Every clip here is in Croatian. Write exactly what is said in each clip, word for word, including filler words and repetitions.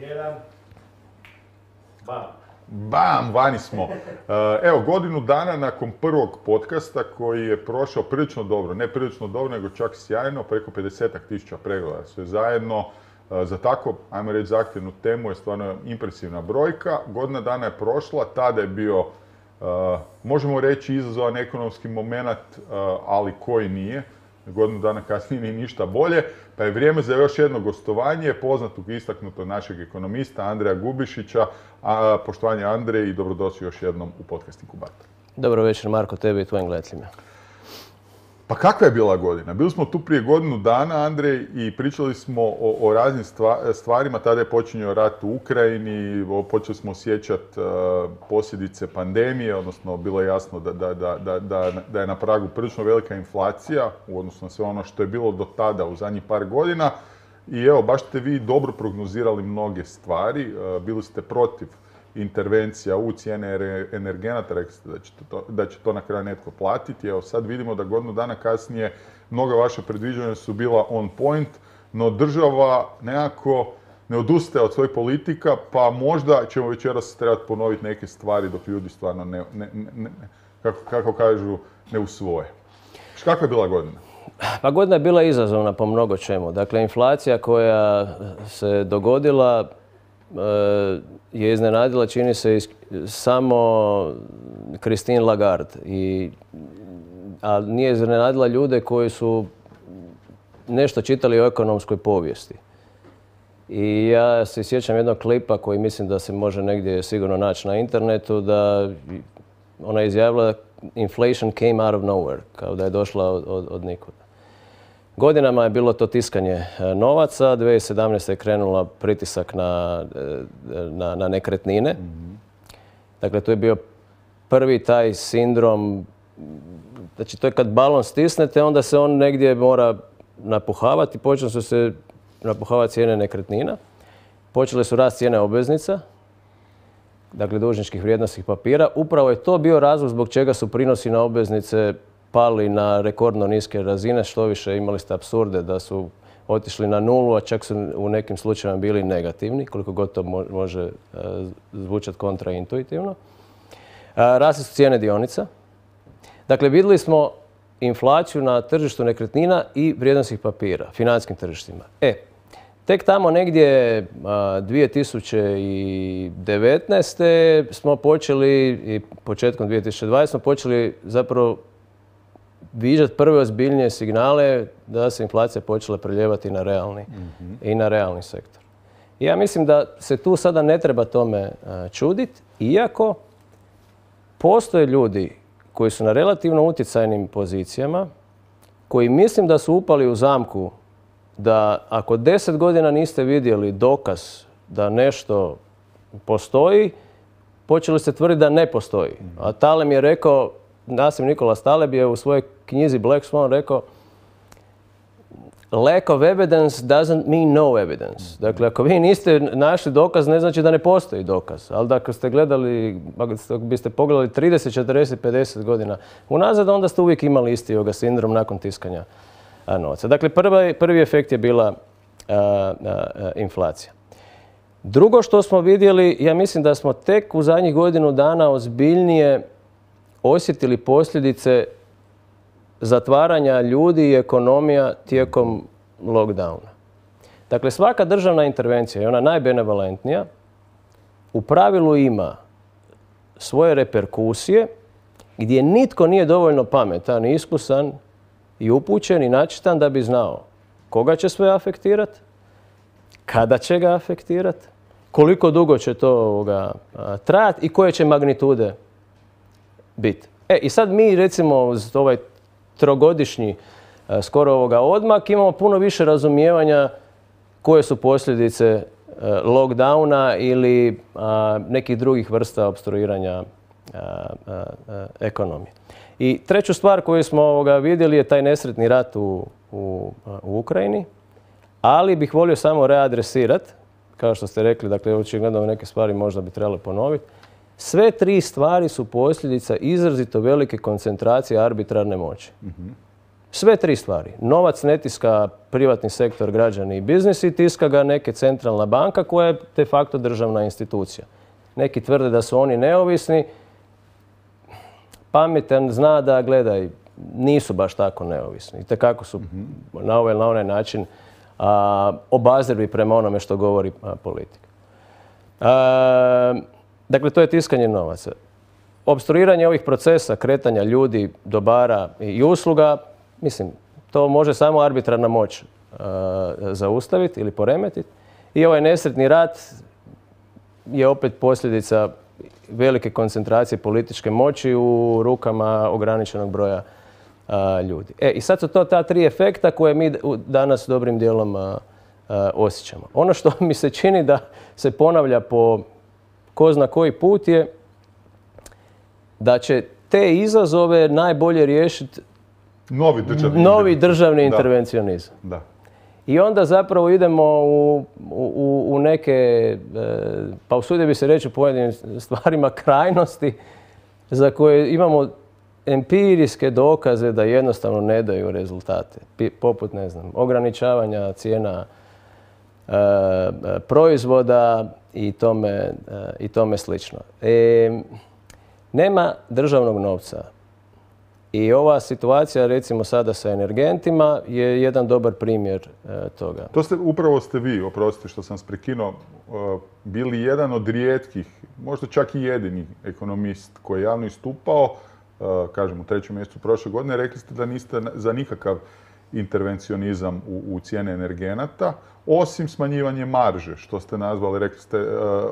jedan, bam. Bam, vani smo. Evo, godinu dana nakon prvog podcasta koji je prošao prilično dobro, ne prilično dobro, nego čak sjajno, preko pedeset tisuća pregleda. Sve zajedno, za tako, ajmo reći, zahtjevnu temu je stvarno impresivna brojka. Godina dana je prošla, tada je bio, možemo reći, izazovan ekonomski moment, ali koji nije. Godinu dana kasnije nije ništa bolje, pa je vrijeme za još jedno gostovanje poznatog i istaknutog našeg ekonomista Andreja Gubišića. A, poštovanje Andrej i dobrodošli još jednom u podcast Inkubator. Dobro večer Marko, tebi i tvojim gledateljima. Pa kakva je bila godina? Bili smo tu prije godinu dana, Andrej, i pričali smo o, o raznim stvarima. Tada je počinjao rat u Ukrajini, počeli smo osjećati uh, posljedice pandemije, odnosno bilo je jasno da, da, da, da, da je na pragu prilično velika inflacija u odnosu na sve ono što je bilo do tada u zadnjih par godina. I evo, baš ste vi dobro prognozirali mnoge stvari, uh, bili ste protiv intervencija u cijene energenata, rekli ste da će, to, da će to na kraju netko platiti. Evo sad vidimo da godinu dana kasnije mnoga vaša predviđanja su bila on point, no država nekako ne odustaje od svojih politika, pa možda ćemo večeras trebati ponoviti neke stvari dok ljudi stvarno ne, ne, ne, kako, kako kažu, ne usvoje. Kakva je bila godina? Pa godina je bila izazovna po mnogo čemu. Dakle, inflacija koja se dogodila je iznenadila, čini se, samo Christine Lagarde. I, a nije iznenadila ljude koji su nešto čitali o ekonomskoj povijesti. I ja se sjećam jednog klipa koji mislim da se može negdje sigurno naći na internetu, da ona je izjavila inflation came out of nowhere, kao da je došla od, od, od nikuda. Godinama je bilo to tiskanje novaca, dvije tisuće sedamnaeste. je krenula pritisak na, na, na nekretnine. Mm-hmm. Dakle, to je bio prvi taj sindrom, znači to je kad balon stisnete, onda se on negdje mora napuhavati. Počeli su se napuhavati cijene nekretnina, počele su rast cijene obveznica, dakle dužničkih vrijednosnih papira. Upravo je to bio razlog zbog čega su prinosi na obveznice pali na rekordno niske razine, što više imali ste apsurde da su otišli na nulu, a čak su u nekim slučajevima bili negativni, koliko god to može zvučati kontraintuitivno. Rasle su cijene dionica. Dakle, vidjeli smo inflaciju na tržištu nekretnina i vrijednosnih papira, financijskim tržištima. E, tek tamo negdje dvije tisuće devetnaeste. smo počeli i početkom dvije tisuće dvadesete. smo počeli zapravo viđati prve ozbiljnije signale da se inflacija počela preljevati na realni, mm-hmm. i na realni sektor. I ja mislim da se tu sada ne treba tome čuditi, iako postoje ljudi koji su na relativno utjecajnim pozicijama, koji mislim da su upali u zamku da ako deset godina niste vidjeli dokaz da nešto postoji, počeli ste tvrditi da ne postoji. Mm-hmm. A Taleb je rekao, Nassim Nicholas Taleb je u svojoj knjizi Black Swan rekao lack of evidence doesn't mean no evidence. Dakle, ako vi niste našli dokaz, ne znači da ne postoji dokaz. Ali ako ste gledali, ako biste pogledali trideset, četrdeset, pedeset godina unazad, onda ste uvijek imali isti ovoga sindrom nakon tiskanja novca. Dakle, prvi, prvi efekt je bila a, a, inflacija. Drugo što smo vidjeli, ja mislim da smo tek u zadnjih godinu dana ozbiljnije osjetili posljedice zatvaranja ljudi i ekonomija tijekom lockdowna. Dakle, svaka državna intervencija, i ona najbenevolentnija, u pravilu ima svoje reperkusije gdje nitko nije dovoljno pametan, iskusan i upućen i načitan da bi znao koga će sve afektirati, kada će ga afektirati, koliko dugo će to ovoga, trajati i koje će magnitude biti. E, i sad mi, recimo, uz ovaj trogodišnji skoro ovoga odmak, imamo puno više razumijevanja koje su posljedice lockdowna ili a, nekih drugih vrsta opstruiranja a, a, a, ekonomije. I treću stvar koju smo ovoga vidjeli je taj nesretni rat u, u, u Ukrajini, ali bih volio samo readresirati, kao što ste rekli, dakle, očigledno neke stvari možda bi trebalo ponoviti. Sve tri stvari su posljedica izrazito velike koncentracije arbitrarne moći. Mm-hmm. Sve tri stvari. Novac ne tiska privatni sektor, građani i biznis i tiska ga neke centralna banka koja je de facto državna institucija. Neki tvrde da su oni neovisni. Pametan zna da, gledaj, nisu baš tako neovisni. Itekako su na ovaj na onaj način a, obazrivi prema onome što govori a, politika. A, dakle, to je tiskanje novaca. Opstruiranje ovih procesa, kretanja ljudi, dobara i usluga, mislim, to može samo arbitrarna moć a, zaustaviti ili poremetiti. I ovaj nesretni rat je opet posljedica velike koncentracije političke moći u rukama ograničenog broja a, ljudi. E, i sad su to ta tri efekta koje mi danas dobrim dijelom a, a, osjećamo. Ono što mi se čini da se ponavlja po ko zna koji put je da će te izazove najbolje riješiti Novi državni, novi državni da. intervencionizam. Da. I onda zapravo idemo u, u, u neke, e, pa usudio bi se reći u pojedinim stvarima, krajnosti za koje imamo empirijske dokaze da jednostavno ne daju rezultate. Pi, poput, ne znam, ograničavanja cijena e, proizvoda i tome, e, i tome slično. E, nema državnog novca. I ova situacija, recimo sada sa energentima, je jedan dobar primjer e, toga. To ste, upravo ste vi, oprostite što sam prekinuo, uh, bili jedan od rijetkih, možda čak i jedini ekonomist koji je javno istupao, uh, kažem u trećem mjesecu prošle godine, rekli ste da niste za nikakav intervencionizam u, u cijene energenata, osim smanjivanje marže, što ste nazvali, rekli ste,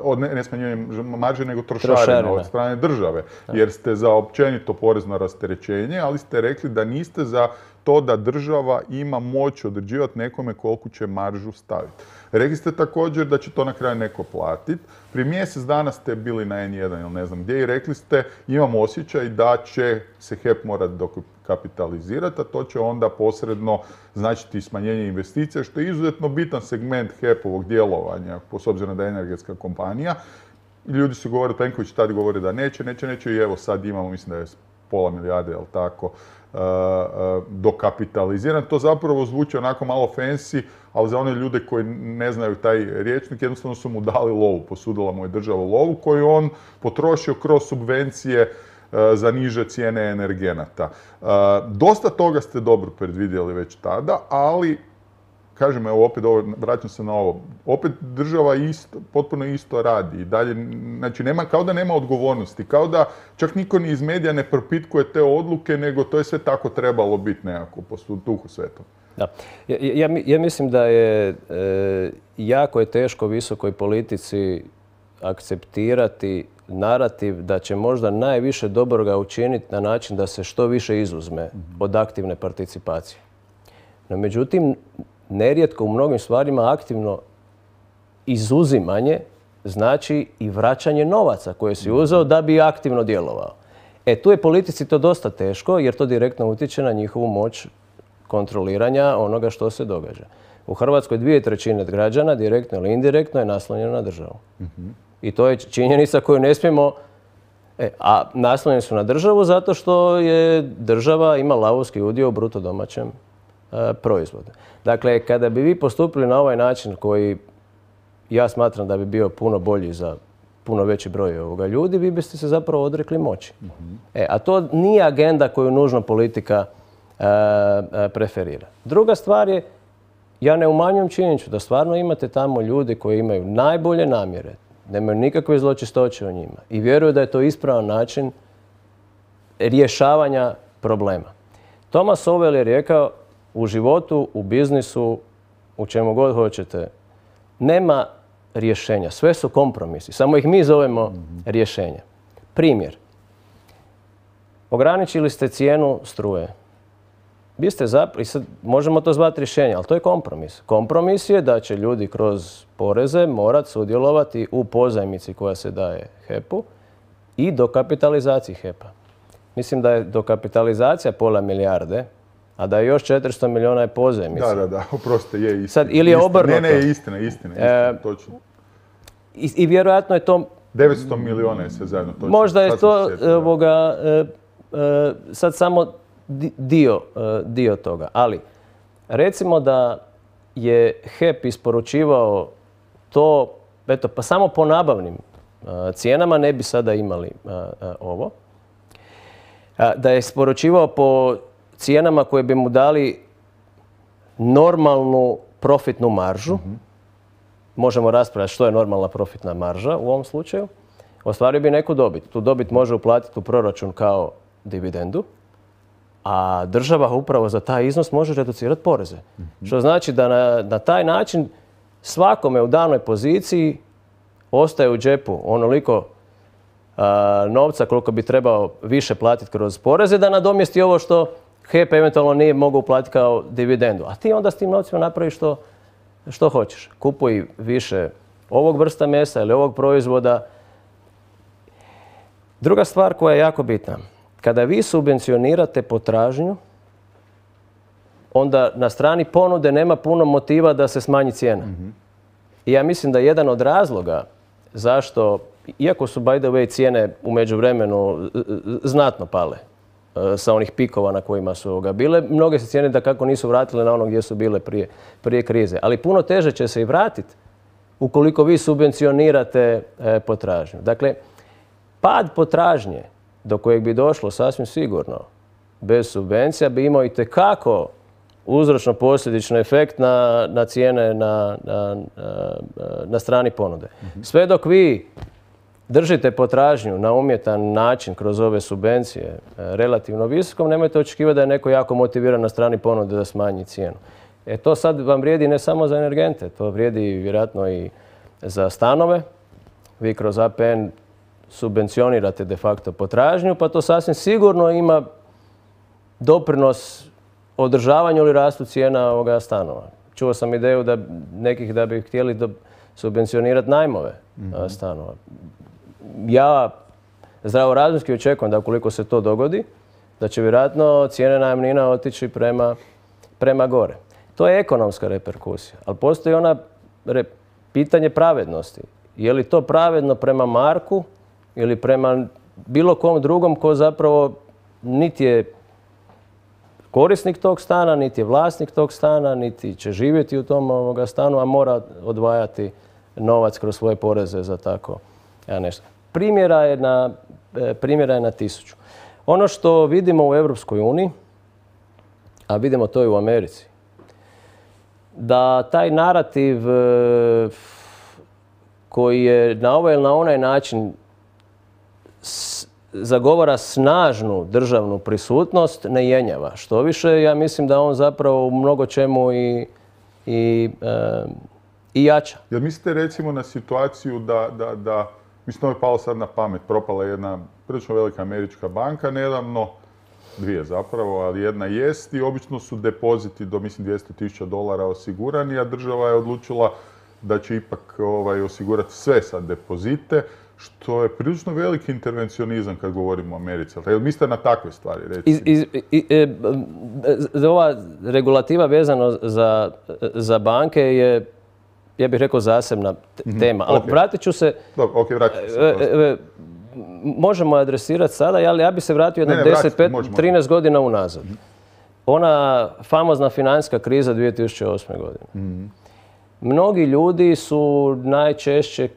uh, ne, ne smanjivanje marže, nego trošarina, trošarina od strane države, jer ste za općenito porezno rasterećenje, ali ste rekli da niste za to da država ima moć određivati nekome koliko će maržu staviti. Rekli ste također da će to na kraju neko platiti. Prije mjesec dana ste bili na en jedan ili ne znam gdje i rekli ste imam osjećaj da će se H E P morati dokapitalizirati, a to će onda posredno značiti smanjenje investicija, što je izuzetno bitan segment H E P-ovog djelovanja, s obzirom da je energetska kompanija. Ljudi su govorili, Plenković tad govori da neće, neće, neće i evo sad imamo, mislim da je pola milijarde, jel tako, uh, uh, dokapitaliziran. To zapravo zvuči onako malo fancy, ali za one ljude koji ne znaju taj rječnik, jednostavno su mu dali lovu, posudila mu je država lovu koju on potrošio kroz subvencije uh, za niže cijene energenata. Uh, dosta toga ste dobro predvidjeli već tada, ali kažem, evo opet ovo, vraćam se na ovo, opet država isto, potpuno isto radi i dalje, znači nema, kao da nema odgovornosti, kao da čak niko ni iz medija ne propitkuje te odluke, nego to je sve tako trebalo biti nekako po duhu svetom. Da. Ja, ja, ja mislim da je e, jako je teško visokoj politici akceptirati narativ da će možda najviše dobroga učiniti na način da se što više izuzme od aktivne participacije. No, međutim, nerijetko u mnogim stvarima aktivno izuzimanje znači i vraćanje novaca koje si uzeo da bi aktivno djelovao. E, tu je politici to dosta teško jer to direktno utječe na njihovu moć kontroliranja onoga što se događa. U Hrvatskoj dvije trećine građana, direktno ili indirektno, je naslonjeno na državu. Mm-hmm. I to je činjenica koju ne smijemo... E, a naslonjeni su na državu zato što je država ima lavovski udio u bruto domaćem e, proizvodu. Dakle, kada bi vi postupili na ovaj način koji ja smatram da bi bio puno bolji za puno veći broj ovoga ljudi, vi biste se zapravo odrekli moći. Mm-hmm. E, a to nije agenda koju nužno politika e, e, preferira. Druga stvar je, ja ne umanjujem činjenicu da stvarno imate tamo ljudi koji imaju najbolje namjere, nemaju nikakve zločistoće u njima i vjeruju da je to ispravan način rješavanja problema. Thomas Sowell je rekao, u životu, u biznisu, u čemu god hoćete, nema rješenja. Sve su kompromisi. Samo ih mi zovemo mm-hmm. rješenja. Primjer. Ograničili ste cijenu struje. Vi ste zapra- i sad možemo to zvati rješenje, ali to je kompromis. Kompromis je da će ljudi kroz poreze morati sudjelovati u pozajmici koja se daje H E P-u i dokapitalizaciji H E P-a. Mislim da je dokapitalizacija pola milijarde, a da je još četiristo milijuna je pozajmica. Da, da, da, oprostite, je istina. Sad, ili je obrnuto. Ne, ne, istina, istina, istina, e, točno. I, I vjerojatno je to... devetsto milijuna je sve zajedno, točno. Možda je sad to, ovoga, e, e, sad samo dio, dio toga. Ali, recimo da je H E P isporučivao to, eto, pa samo po nabavnim cijenama ne bi sada imali ovo. Da je isporučivao po cijenama koje bi mu dali normalnu profitnu maržu. Mm-hmm. Možemo raspravljati što je normalna profitna marža u ovom slučaju. Ostvario bi neku dobit. Tu dobit može uplatiti u proračun kao dividendu, a država upravo za taj iznos može reducirati poreze. Mm-hmm. Što znači da na, na taj način svakome u danoj poziciji ostaje u džepu onoliko a, novca koliko bi trebao više platiti kroz poreze da nadomjesti ovo što H E P eventualno nije mogao uplatiti kao dividendu. A ti onda s tim novcima napraviš što, što hoćeš. Kupuj više ovog vrsta mesa ili ovog proizvoda. Druga stvar koja je jako bitna. Kada vi subvencionirate potražnju, onda na strani ponude nema puno motiva da se smanji cijena. Mm-hmm. I ja mislim da je jedan od razloga zašto, iako su by the way cijene u međuvremenu znatno pale sa onih pikova na kojima su ga bile, mnoge se cijene da kako nisu vratile na ono gdje su bile prije, prije krize. Ali puno teže će se i vratiti ukoliko vi subvencionirate e, potražnju. Dakle, pad potražnje do kojeg bi došlo sasvim sigurno bez subvencija bi imao itekako uzročno-posljedični efekt na, na cijene na, na, na strani ponude. Mm-hmm. Sve dok vi držite potražnju na umjetan način kroz ove subvencije relativno visokom, nemojte očekivati da je neko jako motiviran na strani ponude da smanji cijenu. E to sad vam vrijedi ne samo za energente, to vrijedi vjerojatno i za stanove. Vi kroz A P N subvencionirate de facto potražnju, pa to sasvim sigurno ima doprinos održavanju ili rastu cijena ovoga stanova. Čuo sam ideju da nekih da bi htjeli da subvencionirati najmove mm-hmm. stanova. Ja zdravorazumski očekujem da ukoliko se to dogodi, da će vjerojatno cijene najamnina otići prema, prema gore. To je ekonomska reperkusija, ali postoji ona re, pitanje pravednosti. Je li to pravedno prema Marku ili prema bilo kom drugom ko zapravo niti je korisnik tog stana, niti je vlasnik tog stana, niti će živjeti u tom ovoga stanu, a mora odvajati novac kroz svoje poreze za tako ja, nešto. Primjera je na, primjera je na tisuću. Ono što vidimo u Europskoj uniji, a vidimo to i u Americi, da taj narativ koji je na ovaj ili na onaj način zagovara snažnu državnu prisutnost, ne jenjava. Što više, ja mislim da on zapravo u mnogo čemu i, i, e, i jača. Jel mislite recimo na situaciju da, da, da mislim to je palo sad na pamet, propala jedna prilično velika američka banka nedavno, dvije zapravo, ali jedna jest i obično su depoziti do mislim dvjesto tisuća dolara osigurani, a država je odlučila da će ipak ovaj, osigurati sve sad depozite, što je prilično veliki intervencionizam kad govorimo o Americi. Jel mislite na takve stvari, recimo? Iz, iz, i, e, ova regulativa vezano za, za banke je, ja bih rekao, zasebna tema. Ali okay. vratit ću se... Dobro, ok, vratit ću se. E, e, možemo adresirati sada, ali ja bih se vratio jedno deset, pet, trinaest godina unazad. Mm-hmm. Ona famozna financijska kriza dvije tisuće osme. godine. Mm-hmm. Mnogi ljudi su najčešće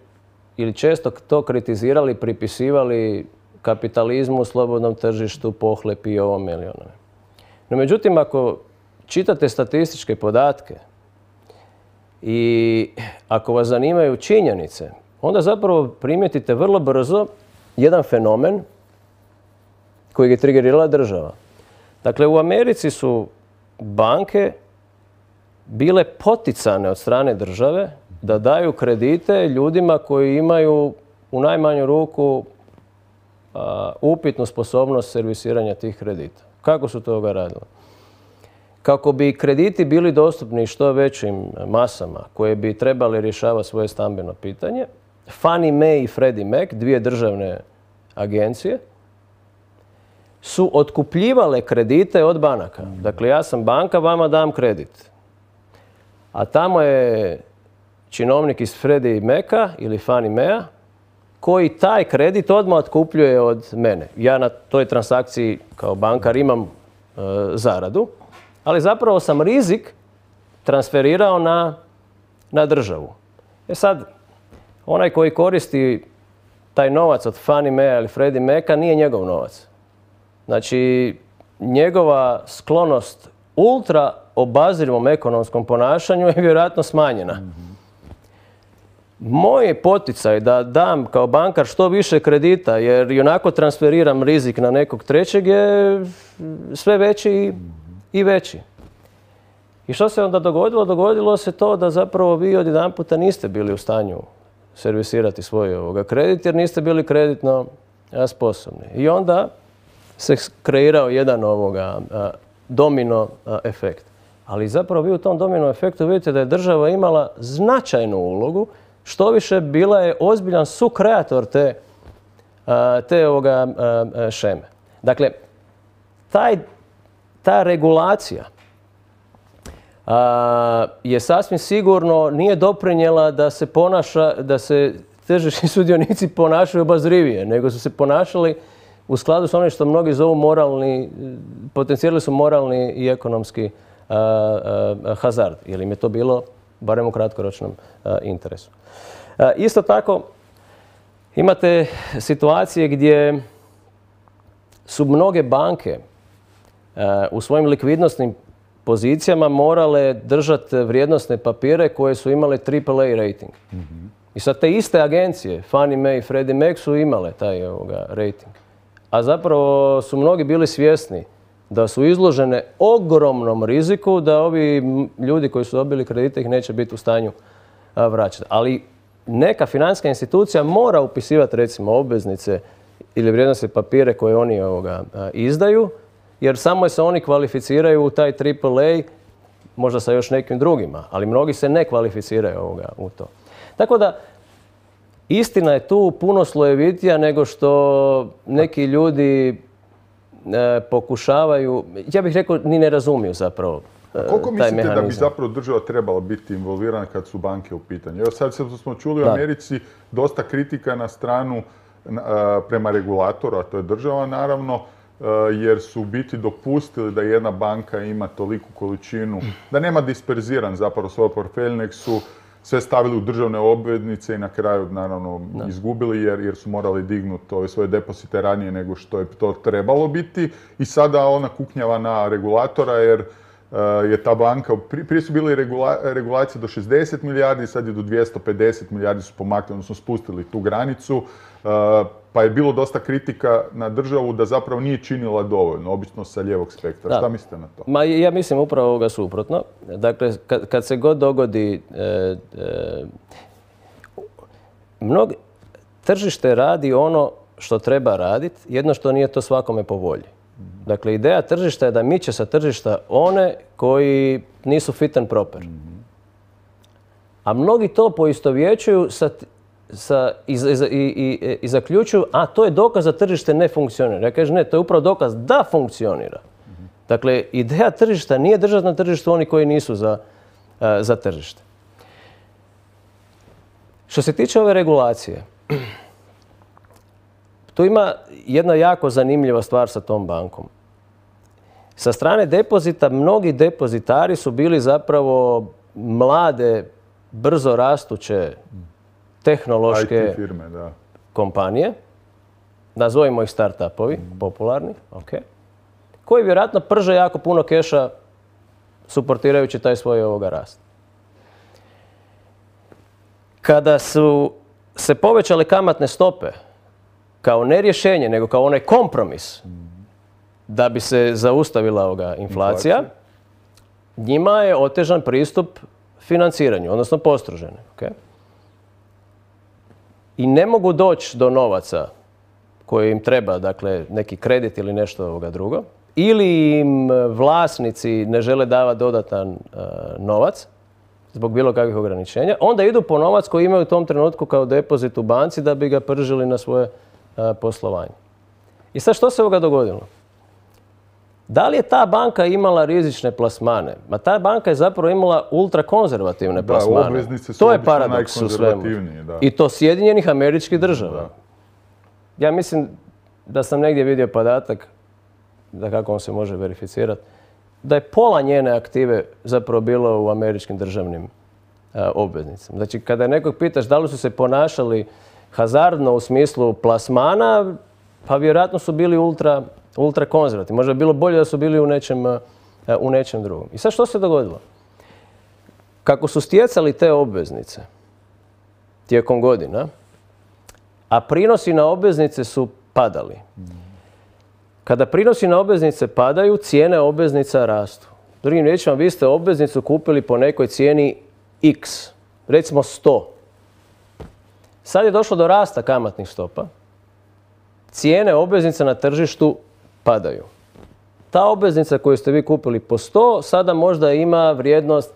ili često to kritizirali, pripisivali kapitalizmu, slobodnom tržištu, pohlepi i ovom ili onome. No međutim, ako čitate statističke podatke i ako vas zanimaju činjenice, onda zapravo primijetite vrlo brzo jedan fenomen koji je triggerirala država. Dakle, u Americi su banke bile poticane od strane države da daju kredite ljudima koji imaju u najmanju ruku a, upitnu sposobnost servisiranja tih kredita. Kako su toga radili? Kako bi krediti bili dostupni što većim masama koje bi trebali rješavati svoje stambeno pitanje, Fannie Mae i Freddie Mac, dvije državne agencije, su otkupljivale kredite od banaka. Dakle, ja sam banka, vama dam kredit. A tamo je činovnik iz Freddie Maca ili Fannie Mae koji taj kredit odmah otkupljuje od mene. Ja na toj transakciji kao bankar imam zaradu, ali zapravo sam rizik transferirao na, na državu. E sad, onaj koji koristi taj novac od Fannie Mae ili Freddie Maca nije njegov novac. Znači, njegova sklonost ultra obazrivom ekonomskom ponašanju je vjerojatno smanjena. Moj je poticaj da dam kao bankar što više kredita, jer i onako transferiram rizik na nekog trećeg, je sve veći i veći. I što se onda dogodilo? Dogodilo se to da zapravo vi odjedanputa niste bili u stanju servisirati svoj ovoga kredit, jer niste bili kreditno sposobni. I onda se kreirao jedan ovoga a, domino a, efekt. Ali zapravo vi u tom domino efektu vidite da je država imala značajnu ulogu, što više bila je ozbiljan sukreator te, a, te ovoga a, šeme. Dakle, taj, ta regulacija a, je sasvim sigurno nije doprinijela da se ponaša, da se tržišni sudionici ponašaju obazrivije, nego su se ponašali u skladu s onim što mnogi zovu moralni, potencijali su moralni i ekonomski a, a, hazard, jer im je to bilo barem u kratkoročnom a, interesu. A, isto tako, imate situacije gdje su mnoge banke a, u svojim likvidnosnim pozicijama morale držati vrijednosne papire koje su imale triple A rating. Mm-hmm. I sad te iste agencije, Fannie Mae i Freddie Mac, su imale taj ovoga, rating. A zapravo su mnogi bili svjesni da su izložene ogromnom riziku da ovi ljudi koji su dobili kredite ih neće biti u stanju a, vraćati. Ali neka financijska institucija mora upisivati recimo obveznice ili vrijednosne papire koje oni ovoga, a, izdaju, jer samo se oni kvalificiraju u taj triple A, možda sa još nekim drugima, ali mnogi se ne kvalificiraju ovoga, u to. Tako da, istina je tu puno slojevitija nego što neki ljudi e, pokušavaju, ja bih rekao, ni ne razumiju zapravo e, taj Koliko mislite mehanizam. da bi zapravo država trebala biti involvirana kad su banke u pitanju? Evo sad smo čuli u Da. Americi dosta kritika na stranu a, prema regulatoru, a to je država naravno, a, jer su u biti dopustili da jedna banka ima toliku količinu, da nema disperziran zapravo svoj portfelj, nek su sve stavili u državne obveznice i na kraju naravno Da. izgubili jer, jer su morali dignuti ove svoje depozite ranije nego što je to trebalo biti i sada ona kuknjava na regulatora jer uh, je ta banka, prije su bili regula, regulacije do šezdeset milijardi, sad je do dvjesto pedeset milijardi su pomaknuli, odnosno spustili tu granicu, uh, pa je bilo dosta kritika na državu da zapravo nije činila dovoljno, obično sa lijevog spektra. Da. Šta mislite na to? Ma ja mislim upravo ovoga suprotno. Dakle, kad, kad se god dogodi e, e, mnogi, tržište radi ono što treba raditi, jedno što nije to svakome po volji. Dakle, ideja tržišta je da miče sa tržišta one koji nisu fit and proper. A mnogi to poistovjećuju sa, sa, i, i, i, i zaključuju, a to je dokaz da tržište ne funkcionira. Ja kažem, ne, to je upravo dokaz da funkcionira. Dakle, ideja tržišta nije držati na tržištu oni koji nisu za, uh, za tržište. Što se tiče ove regulacije, tu ima jedna jako zanimljiva stvar sa tom bankom. Sa strane depozita, mnogi depozitari su bili zapravo mlade, brzo rastuće tehnološke I T firme, da. kompanije, nazovimo ih start-upovi, popularni, ok, koji vjerojatno prže jako puno keša suportirajući taj svoj ovoga rast. Kada su se povećale kamatne stope kao ne rješenje, nego kao onaj kompromis da bi se zaustavila ovoga inflacija, Inflacija. njima je otežan pristup financiranju, odnosno postroženi. Okay? I ne mogu doći do novaca koji im treba, dakle neki kredit ili nešto ovoga drugo, ili im vlasnici ne žele davati dodatan uh, novac zbog bilo kakvih ograničenja, onda idu po novac koji imaju u tom trenutku kao depozit u banci da bi ga pržili na svoje uh, poslovanje. I sad što se ovoga dogodilo? Da li je ta banka imala rizične plasmane? Ma ta banka je zapravo imala ultrakonzervativne Da, plasmane. obveznice su To je obično paradoks u svemu. najkonzervativnije, da. I to Sjedinjenih Američkih Država. Da. Ja mislim da sam negdje vidio podatak da kako on se može verificirati, da je pola njene aktive zapravo bilo u američkim državnim a, obveznicama. Znači, kada nekog pitaš da li su se ponašali hazardno u smislu plasmana, pa vjerojatno su bili ultra, ultra konzervativni. Možda bi bilo bolje da su bili u nečem, a, u nečem drugom. I sad što se dogodilo? Kako su stjecali te obveznice tijekom godina, a prinosi na obveznice su padali. Kada prinosi na obveznice padaju, cijene obveznica rastu. Drugim riječima, vi ste obveznicu kupili po nekoj cijeni X, recimo sto. Sad je došlo do rasta kamatnih stopa. Cijene obveznica na tržištu padaju. Ta obveznica koju ste vi kupili po sto, sada možda ima vrijednost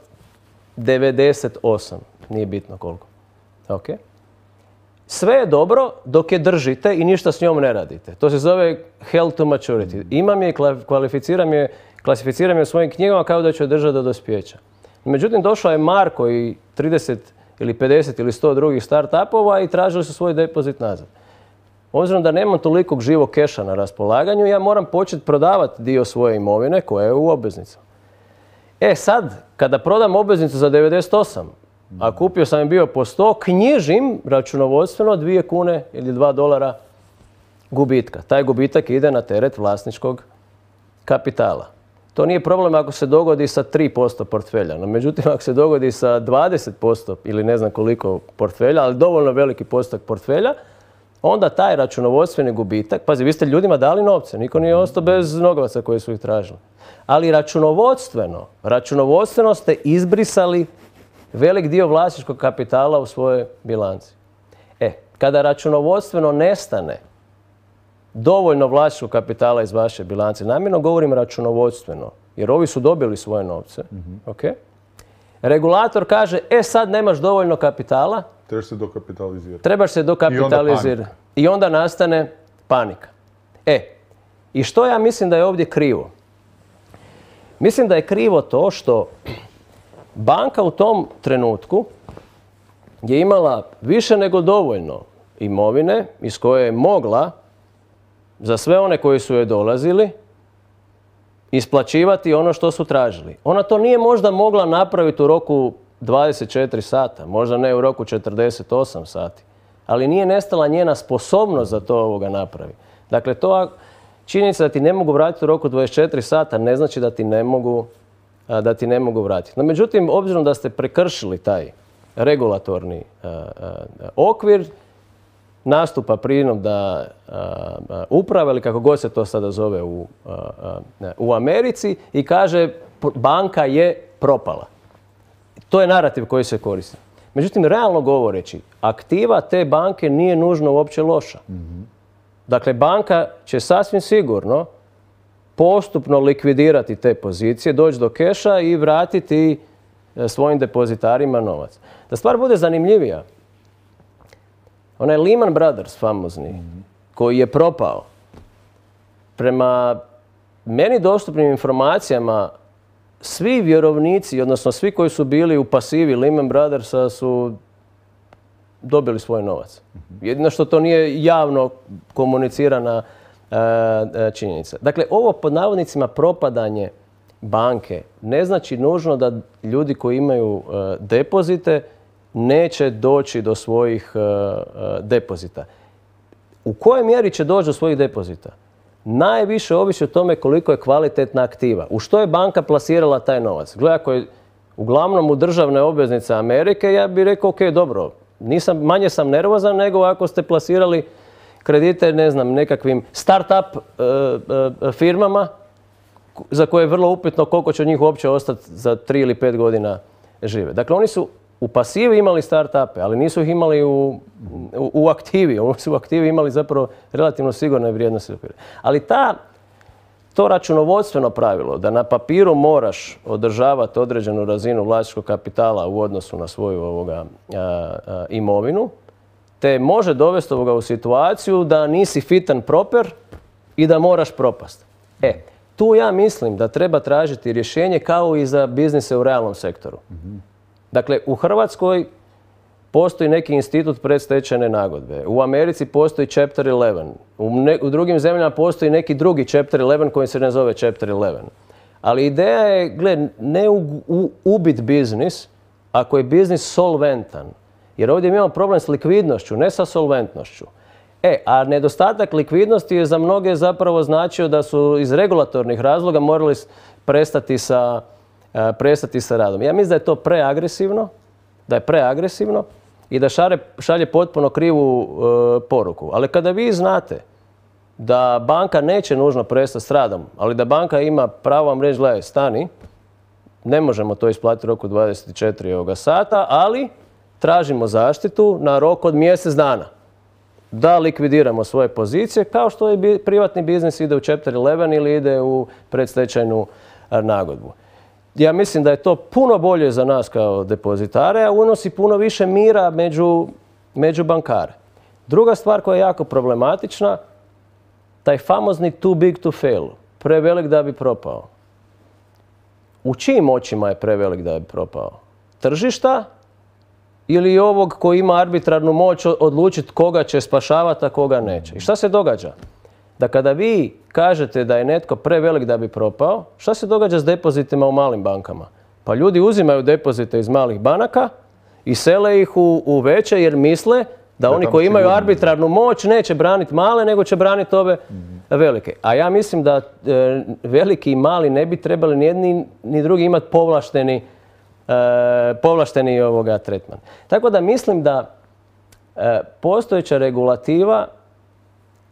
devedeset osam. Nije bitno koliko. Okay. Sve je dobro dok je držite i ništa s njom ne radite. To se zove held to maturity. Imam je i kvalificiram je, klasificiram je u svojim knjigama kao da ću je držati do dospijeća. Međutim, došao je Marko i trideset ili pedeset ili sto drugih start-upova i tražili su svoj depozit nazad. Obzirom da nemam tolikog živog keša na raspolaganju, ja moram početi prodavati dio svoje imovine koja je u obveznicama. E sad, kada prodam obveznicu za devedeset osam, a kupio sam je bio po sto, knjižim računovodstveno dvije kune ili dva dolara gubitka. Taj gubitak ide na teret vlasničkog kapitala. To nije problem ako se dogodi sa tri posto portfelja. No, međutim, ako se dogodi sa dvadeset posto ili ne znam koliko portfelja, ali dovoljno veliki postotak portfelja, onda taj računovodstveni gubitak, pazi, vi ste ljudima dali novce, niko nije ostao bez novaca koji su ih tražili. Ali računovodstveno, računovodstveno ste izbrisali velik dio vlasničkog kapitala u svojoj bilanci. E, kada računovodstveno nestane dovoljno vlasničkog kapitala iz vaše bilance, namjerno govorim računovodstveno, jer ovi su dobili svoje novce, mm-hmm. okay? Regulator kaže, e sad nemaš dovoljno kapitala, trebaš se dokapitalizirati. Trebaš se dokapitalizirati. I onda, I onda nastane panika. E, i što ja mislim da je ovdje krivo? Mislim da je krivo to što banka u tom trenutku je imala više nego dovoljno imovine iz koje je mogla za sve one koji su joj dolazili isplaćivati ono što su tražili. Ona to nije možda mogla napraviti u roku dvadeset četiri sata, možda ne u roku četrdeset osam sati, ali nije nestala njena sposobnost da to ovoga napravi. Dakle, to činjenica da ti ne mogu vratiti u roku dvadeset četiri sata ne znači da ti ne mogu, da ti ne mogu vratiti. No, međutim, obzirom da ste prekršili taj regulatorni a, a, okvir, nastupa prinudna uprava ili kako god se to sada zove u, a, a, u Americi i kaže banka je propala. To je narativ koji se koristi. Međutim, realno govoreći, aktiva te banke nije nužno uopće loša. Mm-hmm. Dakle, banka će sasvim sigurno postupno likvidirati te pozicije, doći do keša i vratiti svojim depozitarima novac. Da stvar bude zanimljivija, onaj Lehman Brothers famozni, mm-hmm. koji je propao, prema meni dostupnim informacijama, svi vjerovnici, odnosno svi koji su bili u pasivi Lehman Brothersa su dobili svoj novac. Jedino što to nije javno komunicirana e, činjenica. Dakle, ovo pod navodnicima propadanje banke ne znači nužno da ljudi koji imaju e, depozite neće doći do svojih e, depozita. U kojoj mjeri će doći do svojih depozita? Najviše ovisi o tome koliko je kvalitetna aktiva. U što je banka plasirala taj novac? Gle, ako je uglavnom u državne obveznice Amerike, ja bih rekao, ok, dobro, nisam, manje sam nervozan nego ako ste plasirali kredite, ne znam, nekakvim start-up uh, uh, firmama za koje je vrlo upitno koliko će od njih uopće ostati za tri ili pet godina žive. Dakle, oni su u pasivi imali start-upe, ali nisu ih imali u, u, u aktivi. Oni su u aktivi imali zapravo relativno sigurne vrijednosti. Ali ta, to računovodstveno pravilo da na papiru moraš održavati određenu razinu vlasničkog kapitala u odnosu na svoju ovoga, a, a, imovinu, te može dovesti ovoga u situaciju da nisi fit and proper i da moraš propast. E, tu ja mislim da treba tražiti rješenje kao i za biznise u realnom sektoru. Mm-hmm. Dakle, u Hrvatskoj postoji neki institut predstečajne nagodbe. U Americi postoji Chapter eleven. U, ne, u drugim zemljama postoji neki drugi Chapter eleven koji se ne zove Chapter eleven. Ali ideja je, gled, ne u, u, ubit biznis ako je biznis solventan. Jer ovdje imamo problem s likvidnošću, ne sa solventnošću. E, a nedostatak likvidnosti je za mnoge zapravo značio da su iz regulatornih razloga morali prestati sa, uh, prestati sa radom. Ja mislim da je to preagresivno, da je preagresivno i da šare, šalje potpuno krivu uh, poruku. Ali kada vi znate da banka neće nužno prestati s radom, ali da banka ima pravo vam reći, gledaj, stani, ne možemo to isplatiti u roku dvadeset četiri sata, ali tražimo zaštitu na rok od mjesec dana. Da likvidiramo svoje pozicije, kao što je privatni biznis ide u Chapter eleven ili ide u predstečajnu nagodbu. Ja mislim da je to puno bolje za nas kao depozitare, a unosi puno više mira među, među bankare. Druga stvar koja je jako problematična, taj famozni too big to fail, prevelik da bi propao. U čijim očima je prevelik da bi propao? Tržišta ili ovog koji ima arbitrarnu moć odlučiti koga će spašavati, a koga neće? I šta se događa? Da kada vi kažete da je netko prevelik da bi propao, šta se događa s depozitima u malim bankama? Pa ljudi uzimaju depozite iz malih banaka i sele ih u, u veće jer misle da oni koji imaju arbitrarnu moć neće braniti male, nego će braniti ove velike. A ja mislim da e, veliki i mali ne bi trebali ni jedni ni drugi imati povlašteni, e, povlašteni ovoga tretman. Tako da mislim da e, postojeća regulativa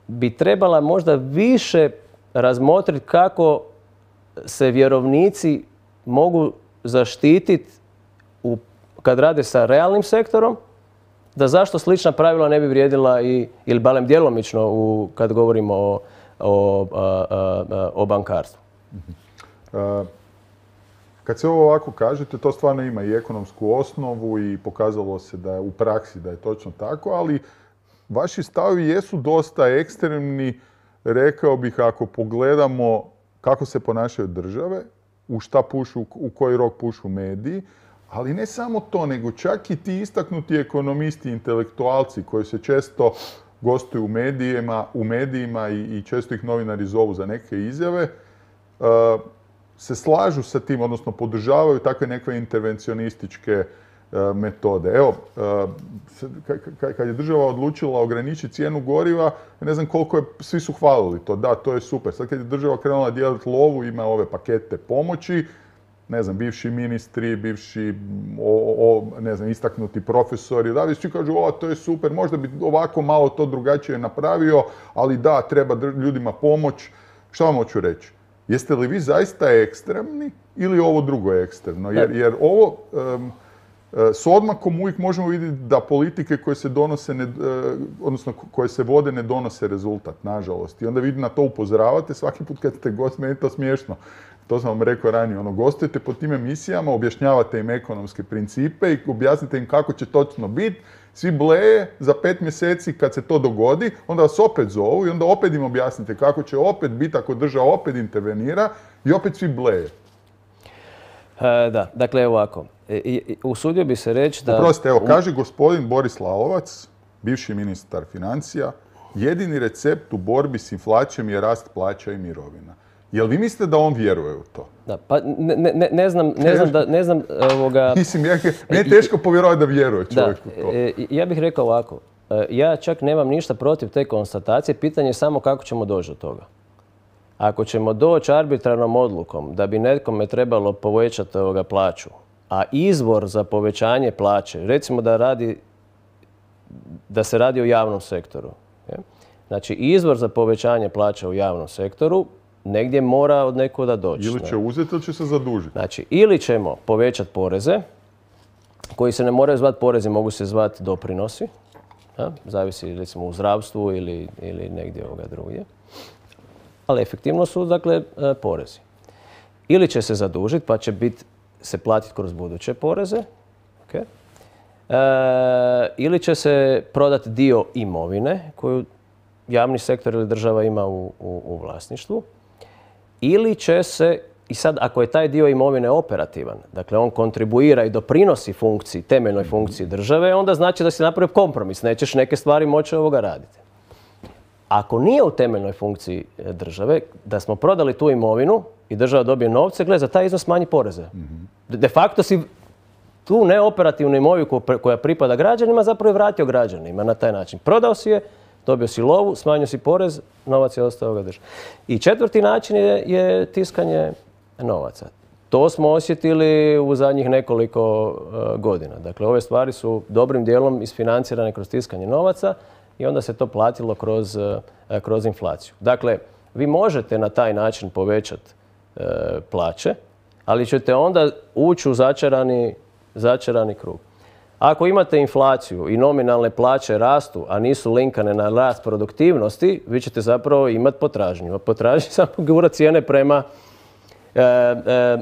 bi trebala možda više razmotriti kako se vjerovnici mogu zaštititi u, kad rade sa realnim sektorom, da zašto slična pravila ne bi vrijedila i, ili barem djelomično u, kad govorimo o, o, a, a, o bankarstvu. Uh, kad se ovo ovako kažete, to stvarno ima i ekonomsku osnovu i pokazalo se da je u praksi da je točno tako, ali vaši stavovi jesu dosta ekstremni, rekao bih, ako pogledamo kako se ponašaju države, u šta pušu, u koji rok pušu mediji, ali ne samo to, nego čak i ti istaknuti ekonomisti, intelektualci koji se često gostuju u medijima, u medijima i, i često ih novinari zovu za neke izjave, uh, se slažu sa tim, odnosno podržavaju takve neke intervencionističke uh, metode. Evo, uh, kad je država odlučila ograničiti cijenu goriva, ne znam koliko je, svi su hvalili to, da, to je super. Sad kad je država krenula dijeliti lovu, ima ove pakete pomoći, ne znam, bivši ministri, bivši, o, o, ne znam, istaknuti profesori, da, svi kažu, o, to je super, možda bi ovako malo to drugačije napravio, ali da, treba ljudima pomoć. Šta vam hoću reći? Jeste li vi zaista ekstremni ili ovo drugo je ekstremno? Jer, jer ovo, um, s odmakom uvijek možemo vidjeti da politike koje se donose, ne, odnosno koje se vode ne donose rezultat, nažalost. I onda vi na to upozoravate svaki put kad ste gost, meni je to smiješno. To sam vam rekao ranije, ono, gostujete po tim emisijama, objašnjavate im ekonomske principe i objasnite im kako će točno biti. Svi bleje za pet mjeseci kad se to dogodi, onda vas opet zovu i onda opet im objasnite kako će opet biti ako država opet intervenira i opet svi bleje. E, da, dakle ovako, e, usudio bi se reći da... Oprostite, evo, kaže gospodin Boris Lalovac, bivši ministar financija, jedini recept u borbi s inflacijom je rast plaća i mirovina. Jel vi mislite da on vjeruje u to? Da, pa ne, ne, ne znam, ne znam da, ne znam ovoga... Mislim, ja, meni je teško povjerovati da vjeruje čovjek u to. E, ja bih rekao ovako, ja čak nemam ništa protiv te konstatacije, pitanje je samo kako ćemo doći do toga. Ako ćemo doći arbitrarnom odlukom da bi nekome trebalo povećati ovoga plaću, a izvor za povećanje plaće, recimo da radi, da se radi o javnom sektoru. Je? Znači, izvor za povećanje plaća u javnom sektoru negdje mora od nekuda doći. Ili će uzeti ili će se zadužiti. Znači, ili ćemo povećati poreze, koji se ne moraju zvati porezi, mogu se zvati doprinosi. Ja? Zavisi recimo u zdravstvu ili, ili negdje ovoga drugdje. Ali efektivno su, dakle, porezi. Ili će se zadužiti, pa će bit, se platiti kroz buduće poreze. Okay. E, ili će se prodati dio imovine koju javni sektor ili država ima u, u, u vlasništvu. Ili će se I sad, ako je taj dio imovine operativan, dakle on kontribuira i doprinosi funkciji, temeljnoj funkciji države, onda znači da si napravio kompromis, nećeš neke stvari moći ovoga raditi. Ako nije u temeljnoj funkciji države, da smo prodali tu imovinu i država dobije novce, gle, za taj iznos smanji poreze. De facto si tu neoperativnu imovinu koja pripada građanima zapravo je vratio građanima na taj način. Prodao si je, dobio si lovu, smanjio si porez, novac je ostao ga držati. I četvrti način je, je tiskanje novaca. To smo osjetili u zadnjih nekoliko uh, godina. Dakle, ove stvari su dobrim dijelom isfinancirane kroz tiskanje novaca i onda se to platilo kroz, uh, kroz inflaciju. Dakle, vi možete na taj način povećati uh, plaće, ali ćete onda ući u začarani, začarani krug. Ako imate inflaciju i nominalne plaće rastu, a nisu linkane na rast produktivnosti, vi ćete zapravo imati potražnju. A potražnju samo gura cijene prema E,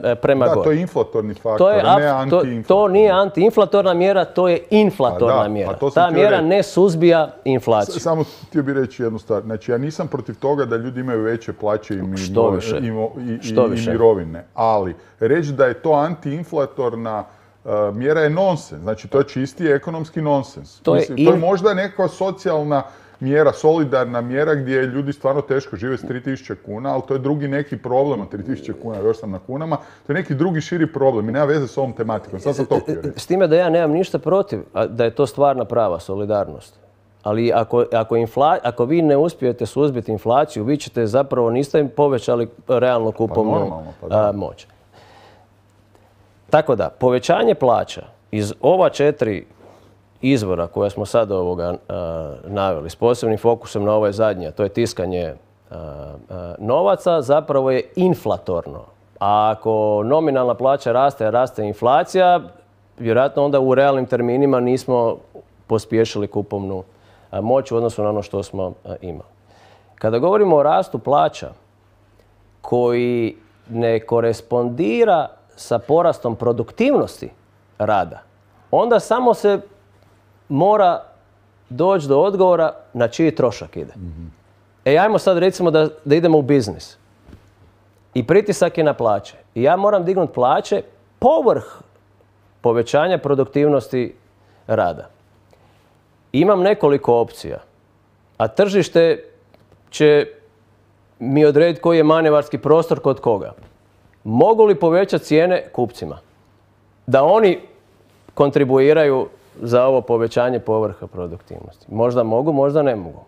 e, prema da, gore. to je inflatorni faktor, to je, ne antiinflatorni. To, to nije antiinflatorna mjera, to je inflatorna da, mjera. Ta mjera reći. ne suzbija inflaciju. Samo htio bih reći jednu stvar. Znači, ja nisam protiv toga da ljudi imaju veće plaće i, mi, Što više. i, i, Što i, više. i mirovine. Ali, reći da je to antiinflatorna uh, mjera je nonsens. Znači, to je čisti ekonomski nonsens. To je, Mislim, in... to je možda neka socijalna mjera, solidarna mjera gdje ljudi stvarno teško žive s tri tisuće kuna, ali to je drugi neki problem od tri tisuće kuna, još sam na kunama, to je neki drugi širi problem i nema veze s ovom tematikom. Sad sam to htio reći. S time da ja nemam ništa protiv da je to stvarna prava solidarnost. Ali ako, ako, infla, ako vi ne uspijete suzbiti inflaciju, vi ćete zapravo, niste im povećali realno kupovnu pa normalno, pa da. moć. Tako da, povećanje plaća iz ova četiri izvora koja smo sad ovoga uh, naveli, s posebnim fokusom na ove zadnje, to je tiskanje uh, uh, novaca, zapravo je inflatorno. A ako nominalna plaća raste, a raste inflacija, vjerojatno onda u realnim terminima nismo pospješili kupovnu uh, moć u odnosu na ono što smo uh, imali. Kada govorimo o rastu plaća koji ne korespondira sa porastom produktivnosti rada, onda samo se mora doći do odgovora na čiji trošak ide. Mm-hmm. E, ajmo sad recimo da, da idemo u biznis. I pritisak je na plaće. I ja moram dignuti plaće povrh povećanja produktivnosti rada. Imam nekoliko opcija, a tržište će mi odrediti koji je manevarski prostor kod koga. Mogu li povećati cijene kupcima? Da oni kontribuiraju za ovo povećanje povrha produktivnosti. Možda mogu, možda ne mogu.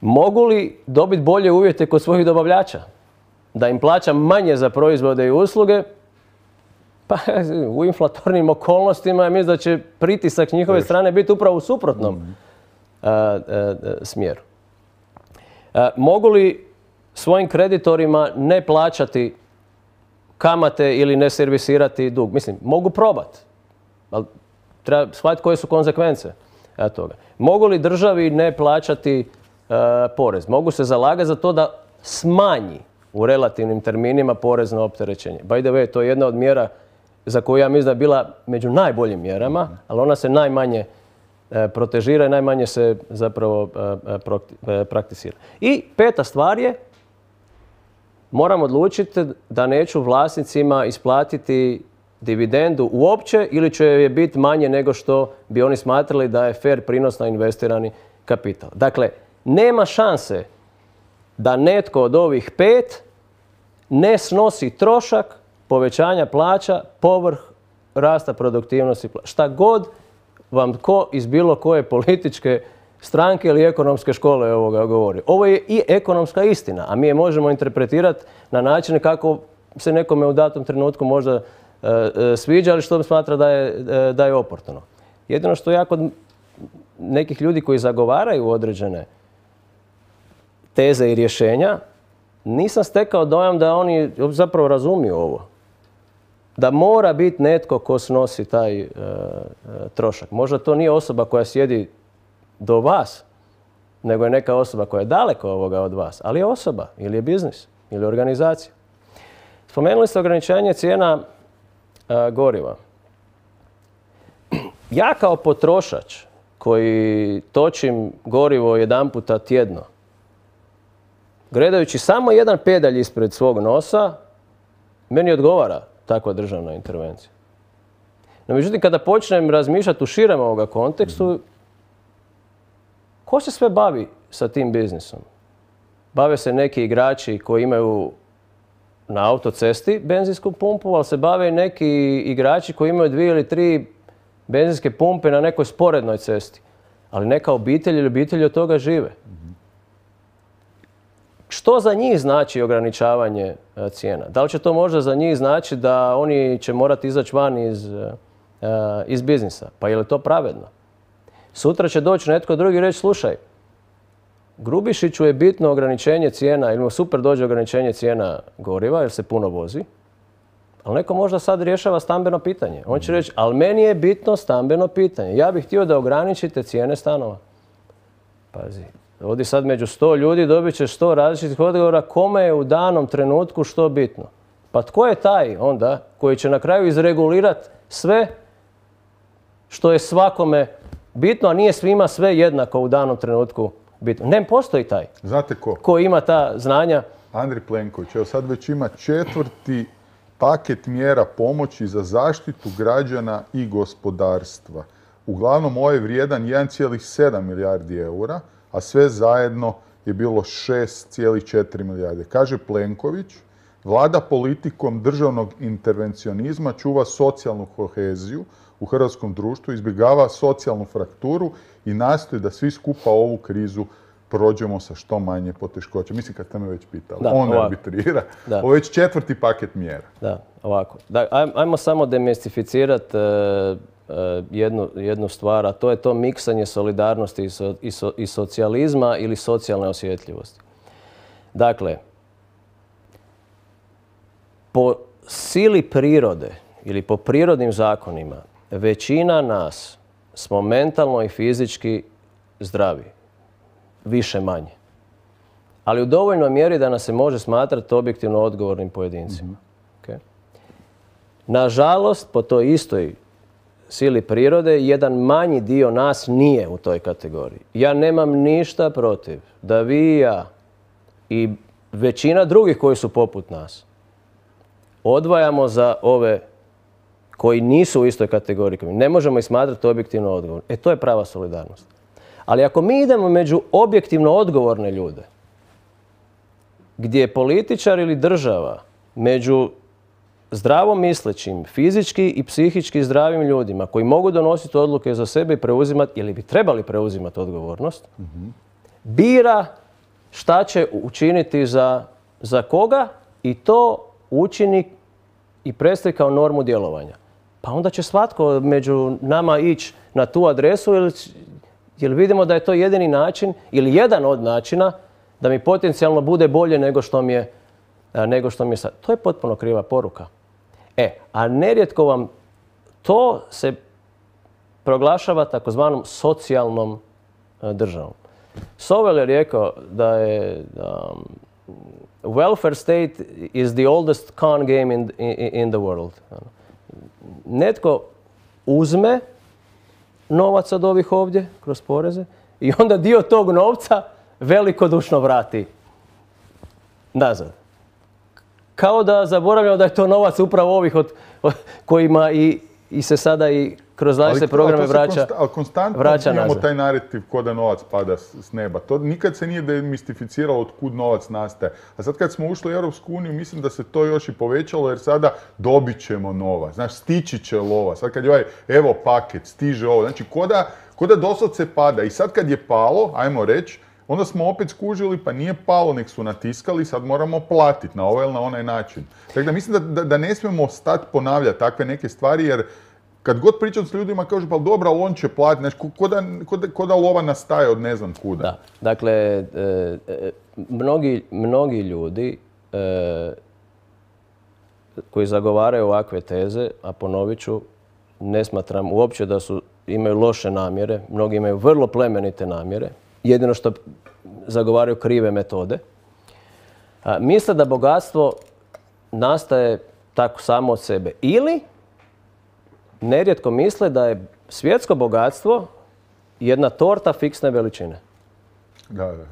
Mogu li dobiti bolje uvjete kod svojih dobavljača? Da im plaćam manje za proizvode i usluge? Pa u inflatornim okolnostima ja mislim da će pritisak njihove strane biti upravo u suprotnom mm. a, a, a, smjeru. A, mogu li svojim kreditorima ne plaćati kamate ili ne servisirati dug? Mislim, mogu probati. Ali treba shvatiti koje su konzekvence toga. Mogu li državi ne plaćati uh, porez? Mogu se zalagati za to da smanji u relativnim terminima porezno opterećenje. By the way, to je jedna od mjera za koju ja mislim da je bila među najboljim mjerama, ali ona se najmanje uh, protežira i najmanje se zapravo uh, uh, prakticira. I peta stvar je, moram odlučiti da neću vlasnicima isplatiti dividendu uopće ili će je biti manje nego što bi oni smatrali da je fair prinos na investirani kapital. Dakle, nema šanse da netko od ovih pet ne snosi trošak povećanja plaća povrh rasta produktivnosti. Šta god vam ko iz bilo koje političke stranke ili ekonomske škole ovoga govori. Ovo je i ekonomska istina, a mi je možemo interpretirati na način kako se nekome u datom trenutku možda sviđa, ali što smatra da je, da je oportuno. Jedino što ja kod nekih ljudi koji zagovaraju određene teze i rješenja, nisam stekao dojam da oni zapravo razumiju ovo. Da mora biti netko ko snosi taj uh, trošak. Možda to nije osoba koja sjedi do vas, nego je neka osoba koja je daleko ovoga od vas, ali je osoba, ili je biznis, ili organizacija. Spomenuli ste ograničenje cijena goriva. Ja kao potrošač koji točim gorivo jedan puta tjedno, gledajući samo jedan pedalj ispred svog nosa, meni odgovara takva državna intervencija. No, međutim, kada počnem razmišljati u širem ovoga kontekstu, ko se sve bavi sa tim biznisom? Bave se neki igrači koji imaju na autocesti benzinsku pumpu, ali se bave i neki igrači koji imaju dvije ili tri benzinske pumpe na nekoj sporednoj cesti. Ali neka obitelj ili obitelji od toga žive. Što za njih znači ograničavanje cijena? Da li će to možda za njih znači da oni će morati izaći van iz, iz biznisa? Pa je li to pravedno? Sutra će doći netko drugi i reći, slušaj, Grubišiću je bitno ograničenje cijena, ili mu super dođe ograničenje cijena goriva jer se puno vozi, ali neko možda sad rješava stambeno pitanje. On će reći, ali meni je bitno stambeno pitanje. Ja bih htio da ograničite cijene stanova. Pazi, ovdje sad među sto ljudi dobit će sto različitih odgovora kome je u danom trenutku što bitno. Pa tko je taj onda koji će na kraju izregulirati sve što je svakome bitno, a nije svima sve jednako u danom trenutku bitno? Ne postoji taj. Znate ko? Ko ima ta znanja? Andrej Plenković. Evo sad već ima četvrti paket mjera pomoći za zaštitu građana i gospodarstva. Uglavnom, ovo je vrijedan jedan zarez sedam milijardi eura, a sve zajedno je bilo šest zarez četiri milijarde. Kaže Plenković, vlada politikom državnog intervencionizma čuva socijalnu koheziju u hrvatskom društvu, izbjegava socijalnu frakturu i nastoji da svi skupa ovu krizu prođemo sa što manje poteškoća. Mislim, kad ste me već pitali, da, on ovako. arbitrira. Da. Ovo je već četvrti paket mjera. Da, ovako. Da, ajmo samo demistificirati uh, uh, jednu, jednu stvar, a to je to miksanje solidarnosti i, so, i, so, i socijalizma ili socijalne osjetljivosti. Dakle, po sili prirode ili po prirodnim zakonima, većina nas smo mentalno i fizički zdravi. Više manje. Ali u dovoljnoj mjeri da nas se može smatrati objektivno odgovornim pojedincima. Mm-hmm. Okay? Nažalost, po toj istoj sili prirode, jedan manji dio nas nije u toj kategoriji. Ja nemam ništa protiv da vi i ja i većina drugih koji su poput nas odvajamo za ove koji nisu u istoj kategoriji. Ne možemo ih smatrati objektivno odgovornim. E, to je prava solidarnost. Ali ako mi idemo među objektivno odgovorne ljude, gdje je političar ili država među zdravo mislećim, fizički i psihički zdravim ljudima koji mogu donositi odluke za sebe i preuzimati, ili bi trebali preuzimati odgovornost, mm-hmm. bira šta će učiniti za, za koga i to učini i predstavi kao normu djelovanja. Pa onda će svatko među nama ići na tu adresu ili jer vidimo da je to jedini način ili jedan od načina da mi potencijalno bude bolje nego što mi je, nego što mi je sad. To je potpuno kriva poruka. E, a nerijetko vam to se proglašava takozvanom socijalnom državom. Sovel je rekao da je um, welfare state is the oldest con game in, in, in the world. Netko uzme novac od ovih ovdje, kroz poreze, i onda dio tog novca velikodušno vrati nazad. Kao da zaboravljamo da je to novac upravo ovih od, od, kojima i, i se sada i kroz različite programe vraća, konsta, ali konstantno vraća imamo nazad. Taj narativ ko da novac pada s, s neba. To nikad se nije demistificiralo od kud novac nastaje. A sad kad smo ušli u Europsku uniju, mislim da se to još i povećalo jer sada dobit ćemo novac. Znaš, stići će lova. Sad kad je ovaj, evo paket, stiže ovo. Znači, ko da, ko da doslovce pada. I sad kad je palo, ajmo reći, onda smo opet skužili pa nije palo, nek su natiskali, sad moramo platiti na ovaj ili na onaj način. Tako da mislim da, da, da ne smijemo stati ponavljati takve neke stvari jer kad god pričam s ljudima kažu pa dobro, ali on će platiti, znači ko da, ko, da, ko da lova nastaje od ne znam kuda. Da, dakle, e, e, mnogi, mnogi ljudi e, koji zagovaraju ovakve teze, a ponovit ću, ne smatram uopće da su, imaju loše namjere, mnogi imaju vrlo plemenite namjere, jedino što zagovaraju krive metode. A, misle da bogatstvo nastaje tako samo od sebe. Ili nerijetko misle da je svjetsko bogatstvo jedna torta fiksne veličine. Da, da.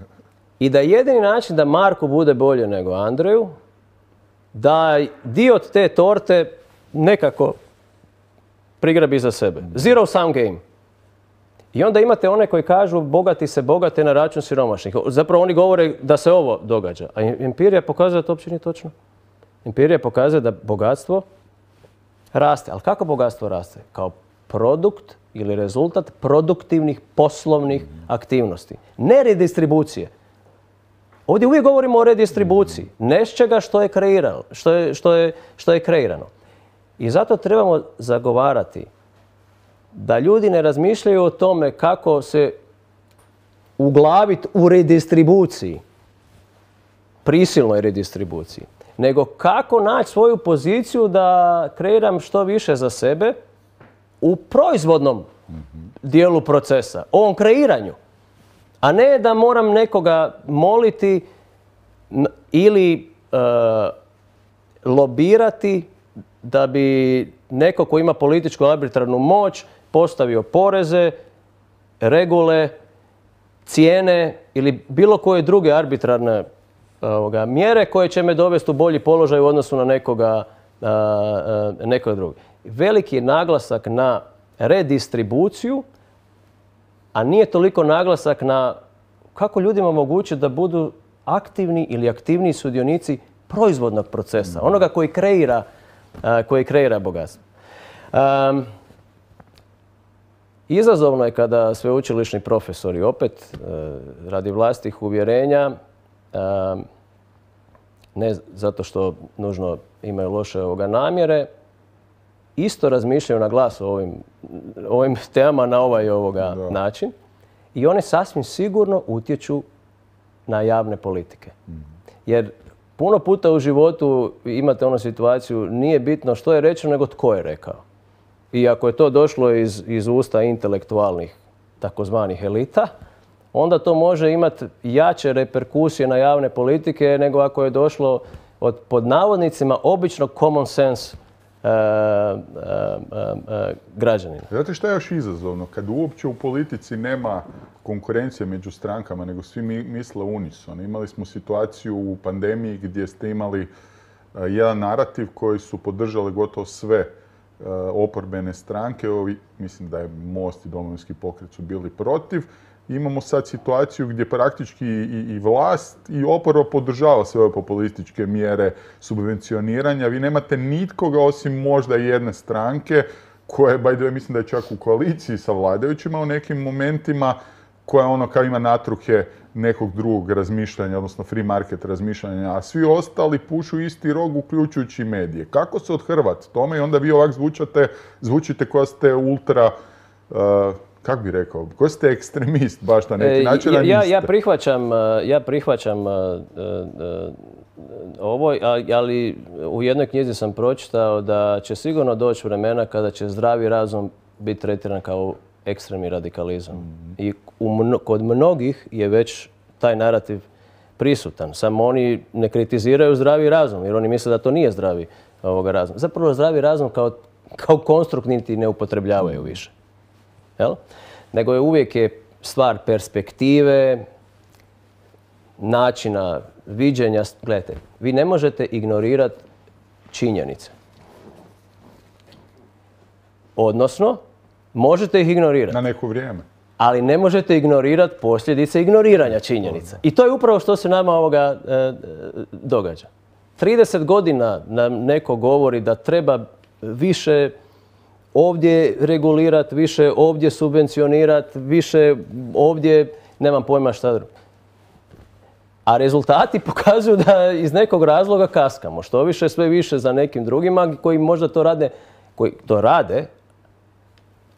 I da jedini način da Marku bude bolje nego Andreju, da dio od te torte nekako prigrabi za sebe. Zero sum game. I onda imate one koji kažu bogati se bogate na račun siromašnih. Zapravo oni govore da se ovo događa. A empirija pokazuje da to uopće nije točno. Empirija pokazuje da bogatstvo raste. Ali kako bogatstvo raste? Kao produkt ili rezultat produktivnih poslovnih aktivnosti. Ne redistribucije. Ovdje uvijek govorimo o redistribuciji. Nečega što je kreirano. Što je, što je, što je kreirano. I zato trebamo zagovarati da ljudi ne razmišljaju o tome kako se uglaviti u redistribuciji, prisilnoj redistribuciji, nego kako naći svoju poziciju da kreiram što više za sebe u proizvodnom dijelu procesa, ovom kreiranju. A ne da moram nekoga moliti ili e, lobirati da bi neko ko ima političku arbitrarnu moć postavio poreze, regule, cijene ili bilo koje druge arbitrarne ovoga, mjere koje će me dovesti u bolji položaj u odnosu na nekoga, a, a, nekoga drugog. Veliki je naglasak na redistribuciju, a nije toliko naglasak na kako ljudima omogućiti da budu aktivni ili aktivniji sudionici proizvodnog procesa, onoga koji kreira, a, koji kreira bogatstvo. Um, Izazovno je kada sveučilišni profesori opet radi vlastitih uvjerenja, ne zato što nužno imaju loše ovoga namjere, isto razmišljaju na glas o ovim, ovim temama na ovaj ovoga da. način i one sasvim sigurno utječu na javne politike. Mm. Jer puno puta u životu imate onu situaciju, nije bitno što je rečeno, nego tko je rekao. I ako je to došlo iz, iz usta intelektualnih takozvanih elita, onda to može imati jače reperkusije na javne politike nego ako je došlo od pod navodnicima običnog common sense uh, uh, uh, uh, građanina. Znate šta je još izazovno? Kad uopće u politici nema konkurencije među strankama, nego svi mi misle unisono. Imali smo situaciju u pandemiji gdje ste imali uh, jedan narativ koji su podržali gotovo sve oporbene stranke, ovi, mislim da je Most i Domovinski pokret su bili protiv. Imamo sad situaciju gdje praktički i, i vlast i oporba podržava sve ove populističke mjere subvencioniranja. Vi nemate nitkoga osim možda jedne stranke koja je, by the way, mislim da je čak u koaliciji sa vladajućima u nekim momentima, koja ono kao ima natruhe nekog drugog razmišljanja, odnosno free market razmišljanja, a svi ostali pušu isti rog, uključujući medije. Kako se othrvati tome i onda vi ovak zvučate, zvučite koja ste ultra, uh, kako bi rekao, koji ste ekstremist baš na neki način, ja, ja, ja prihvaćam, ja prihvaćam uh, uh, ovo, ali u jednoj knjizi sam pročitao da će sigurno doći vremena kada će zdravi razum biti tretiran kao ekstremni radikalizam. Mm-hmm. I u mno, kod mnogih je već taj narativ prisutan. Samo oni ne kritiziraju zdravi razum, jer oni misle da to nije zdravi ovoga razum. Zapravo zdravi razum kao, kao konstrukt niti ne upotrebljavaju više. Jel? Nego je uvijek je stvar perspektive, načina viđenja. Gledajte, vi ne možete ignorirati činjenice. Odnosno, možete ih ignorirati. Na neko vrijeme. Ali ne možete ignorirati posljedice ignoriranja činjenica. I to je upravo što se nama ovoga e, događa. trideset godina nam neko govori da treba više ovdje regulirati, više ovdje subvencionirati, više ovdje, nemam pojma šta drugo. A rezultati pokazuju da iz nekog razloga kaskamo. Što više, sve više za nekim drugima koji možda to rade, koji to rade,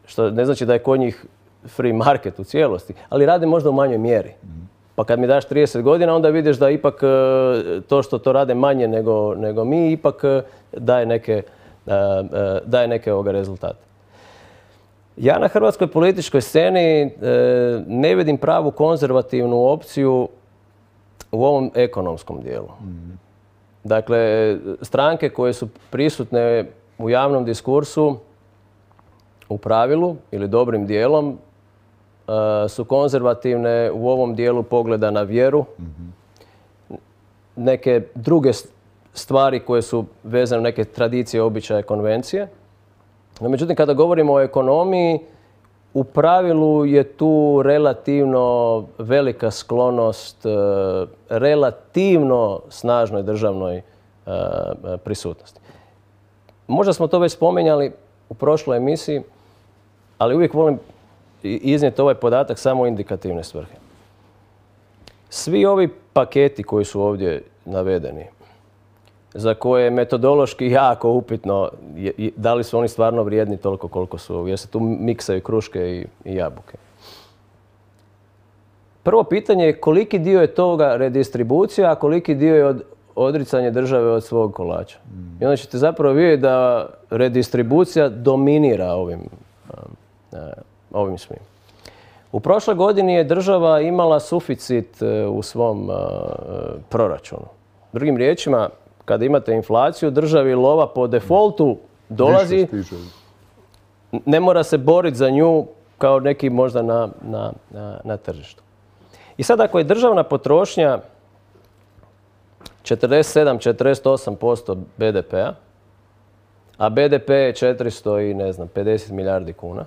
što ne znači da je kod njih free market u cijelosti, ali rade možda u manjoj mjeri. Pa kad mi daš trideset godina, onda vidiš da ipak to što to rade manje nego, nego mi, ipak daje neke, daje neke ovoga rezultate. Ja na hrvatskoj političkoj sceni ne vidim pravu konzervativnu opciju u ovom ekonomskom dijelu. Dakle, stranke koje su prisutne u javnom diskursu u pravilu ili dobrim dijelom su konzervativne u ovom dijelu pogleda na vjeru. Neke druge stvari koje su vezane u neke tradicije, običaje, konvencije. No, međutim, kada govorimo o ekonomiji, u pravilu je tu relativno velika sklonost e, relativno snažnoj državnoj e, prisutnosti. Možda smo to već spomenjali u prošloj emisiji, ali uvijek volim iznijeti ovaj podatak samo u indikativne svrhe. Svi ovi paketi koji su ovdje navedeni, za koje je metodološki jako upitno da li su oni stvarno vrijedni toliko koliko su, jer se tu miksaju kruške i, i jabuke. Prvo pitanje je koliki dio je toga redistribucija, a koliki dio je od, odricanje države od svog kolača. I onda ćete zapravo vidjeti da redistribucija dominira ovim, ovim svim. U prošloj godini je država imala suficit u svom proračunu. Drugim riječima, kada imate inflaciju, državi lova po defaultu dolazi, ne mora se boriti za nju kao neki možda na, na, na, na tržištu. I sad ako je državna potrošnja četrdeset sedam do četrdeset osam posto be de pea, a be de pe je četiristo i ne znam, pedeset milijardi kuna,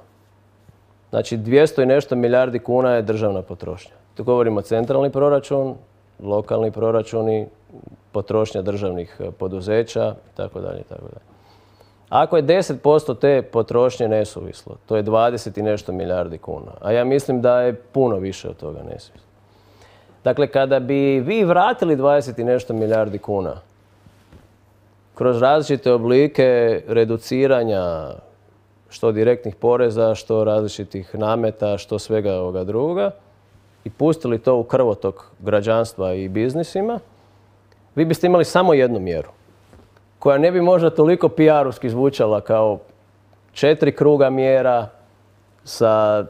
znači dvjesto i nešto milijardi kuna je državna potrošnja. Tu govorimo centralni proračun, lokalni proračuni, potrošnja državnih poduzeća itd. itd. Ako je deset posto te potrošnje nesuvislo, to je dvadeset i nešto milijardi kuna. A ja mislim da je puno više od toga nesuvislo. Dakle, kada bi vi vratili dvadeset i nešto milijardi kuna kroz različite oblike reduciranja što direktnih poreza, što različitih nameta, što svega ovoga drugoga i pustili to u krvotok građanstva i biznisima, vi biste imali samo jednu mjeru koja ne bi možda toliko P R-ovski zvučala kao četiri kruga mjera sa,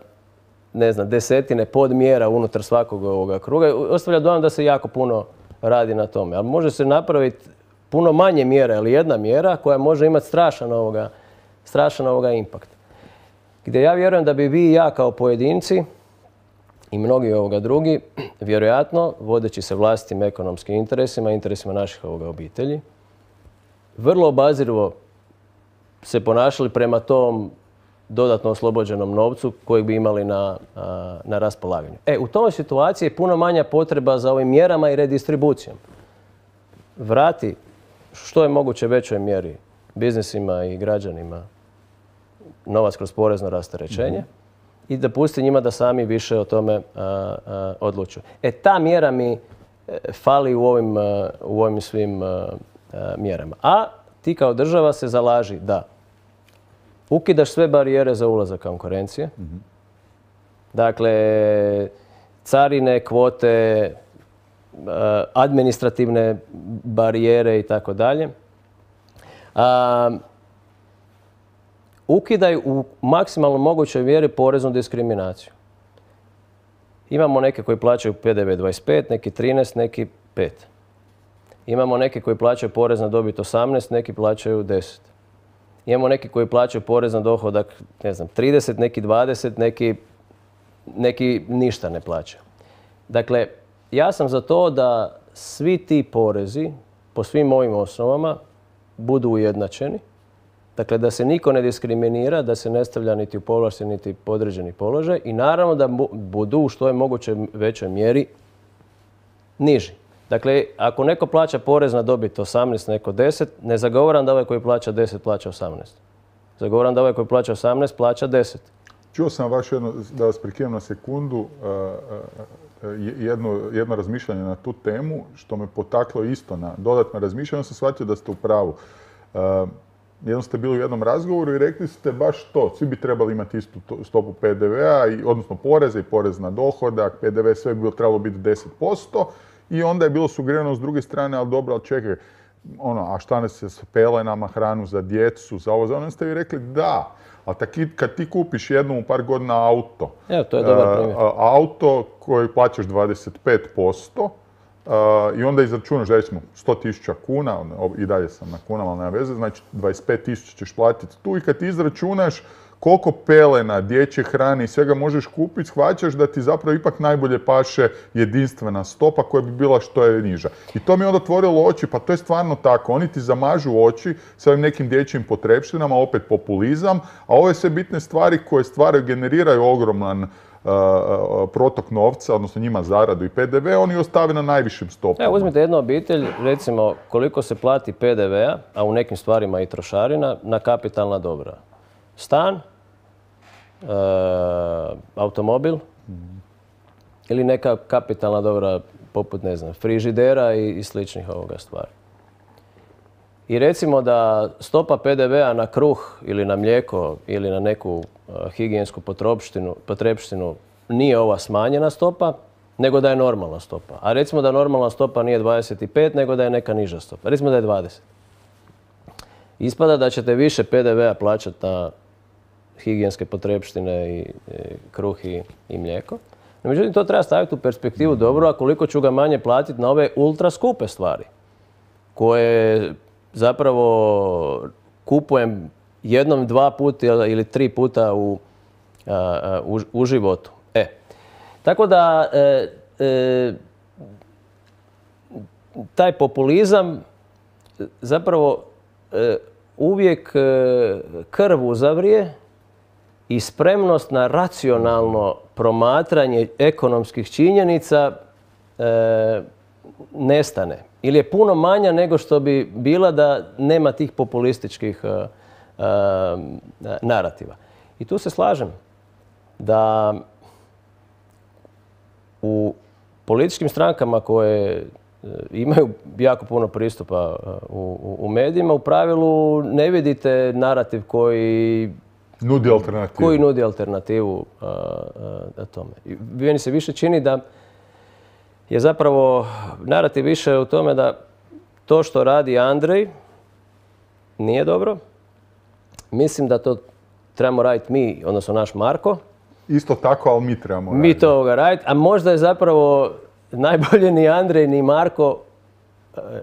ne znam, desetine podmjera unutar svakog ovoga kruga. Ostavlja dojam da se jako puno radi na tome. Ali može se napraviti puno manje mjera, ali jedna mjera koja može imati strašan ovoga, strašan ovoga impakt. Gdje ja vjerujem da bi vi i ja kao pojedinci i mnogi ovoga drugi, vjerojatno, vodeći se vlastitim ekonomskim interesima, interesima naših ovoga obitelji, vrlo obazirivo se ponašali prema tom dodatno oslobođenom novcu kojeg bi imali na, na raspolaganju. E, u toj situaciji je puno manja potreba za ovim mjerama i redistribucijom. Vrati što je moguće većoj mjeri biznisima i građanima novac kroz porezno rasterećenje mm-hmm. i da pusti njima da sami više o tome a, a, odlučuju. E, ta mjera mi fali u ovim, a, u ovim svim a, a, mjerama. A ti kao država se zalaži da ukidaš sve barijere za ulazak konkurencije. Mm-hmm. Dakle, carine, kvote, administrativne barijere i tako dalje. Ukidaj u maksimalno mogućoj mjeri poreznu diskriminaciju. Imamo neke koji plaćaju pe de ve dvadeset pet, neki trinaest, neki pet. Imamo neke koji plaćaju porez na dobit osamnaest, neki plaćaju deset. Imamo neki koji plaćaju porez na dohodak, ne znam, trideset, neki dvadeset, neki, neki ništa ne plaćaju. Dakle, ja sam za to da svi ti porezi po svim ovim osnovama budu ujednačeni. Dakle, da se niko ne diskriminira, da se ne stavlja niti u povlašten, niti podređeni položaj i naravno da budu u što je moguće većoj mjeri niži. Dakle, ako neko plaća porez na dobit osamnaest, neko deset, ne zagovaram da ovaj koji plaća deset plaća osamnaest. Zagovaram da ovaj koji plaća osamnaest plaća deset. Čuo sam vaš jedno, da vas prekinem na sekundu, jedno, jedno razmišljanje na tu temu, što me potaklo isto na dodatno razmišljanje. Onda sam shvatio da ste u pravu. Jednom ste bili u jednom razgovoru i rekli ste baš to. Svi bi trebali imati istu stopu pe de vea, odnosno poreza i porez na dohodak. pe de ve sve bi trebalo biti deset posto. I onda je bilo sugerirano s druge strane, ali dobro, ali čekaj, ono, a šta ne se s pelenama, hranu za djecu, za ovo, za ono, ste vi rekli da. Ali kad ti kupiš jednom u par godina auto, Evo, to je dobar primjer. auto koji plaćaš dvadeset pet posto, Uh, I onda izračunaš, recimo, sto tisuća kuna, i dalje sam na kunama, ali nema veze, znači dvadeset pet tisuća ćeš platiti tu i kad ti izračunaš koliko pelena, dječje hrane i svega možeš kupiti, shvaćaš da ti zapravo ipak najbolje paše jedinstvena stopa koja bi bila što je niža. I to mi je onda otvorilo oči, pa to je stvarno tako. Oni ti zamažu oči s ovim nekim dječjim potrepštinama, opet populizam, a ove sve bitne stvari koje stvaraju, generiraju ogroman Uh, uh, protok novca, odnosno njima zaradu i P D V, oni ostave na najvišim stopama. Evo, uzmite jednu obitelj, recimo koliko se plati P D V-a, a u nekim stvarima i trošarina, na kapitalna dobra. Stan, uh, automobil ili neka kapitalna dobra poput, ne znam, frižidera i, i sličnih ovoga stvari. I recimo da stopa P D V-a na kruh ili na mlijeko ili na neku uh, higijensku potrepštinu nije ova smanjena stopa, nego da je normalna stopa. A recimo da normalna stopa nije dvadeset pet, nego da je neka niža stopa. Recimo da je dvadeset. Ispada da ćete više P D V-a plaćati na higijenske potrepštine i, i kruh i, i mlijeko. No, međutim, to treba staviti u perspektivu dobro, a koliko ću ga manje platiti na ove ultra skupe stvari koje zapravo kupujem jednom, dva puta ili tri puta u, a, u, u životu. E, tako da e, e, taj populizam zapravo e, uvijek e, krv uzavrije i spremnost na racionalno promatranje ekonomskih činjenica e, nestane. Ili je puno manja nego što bi bila da nema tih populističkih uh, uh, narativa. I tu se slažem da u političkim strankama koje uh, imaju jako puno pristupa uh, u, u medijima, u pravilu ne vidite narativ koji nudi alternativu. Koji nudi alternativu uh, uh, tome. I meni se više čini da je zapravo narativ više u tome da to što radi Andrej nije dobro. Mislim da to trebamo raditi mi, odnosno naš Marko. Isto tako, ali mi trebamo raditi. Mi to ovoga raditi, a možda je zapravo najbolje ni Andrej ni Marko,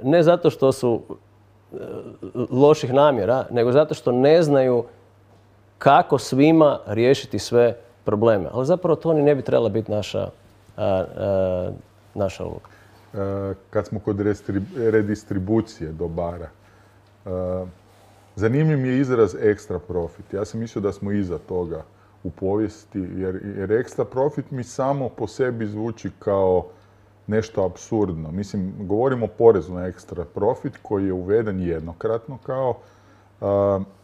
ne zato što su loših namjera, nego zato što ne znaju kako svima riješiti sve probleme. Ali zapravo to ni ne bi trebala biti naša a, a, naša uloga. E, kad smo kod redistribucije dobara, e, zanimljiv mi je izraz ekstra profit. Ja sam mislio da smo iza toga u povijesti, jer, jer ekstra profit mi samo po sebi zvuči kao nešto apsurdno. Mislim, govorimo o porezu na ekstra profit koji je uveden jednokratno kao... E,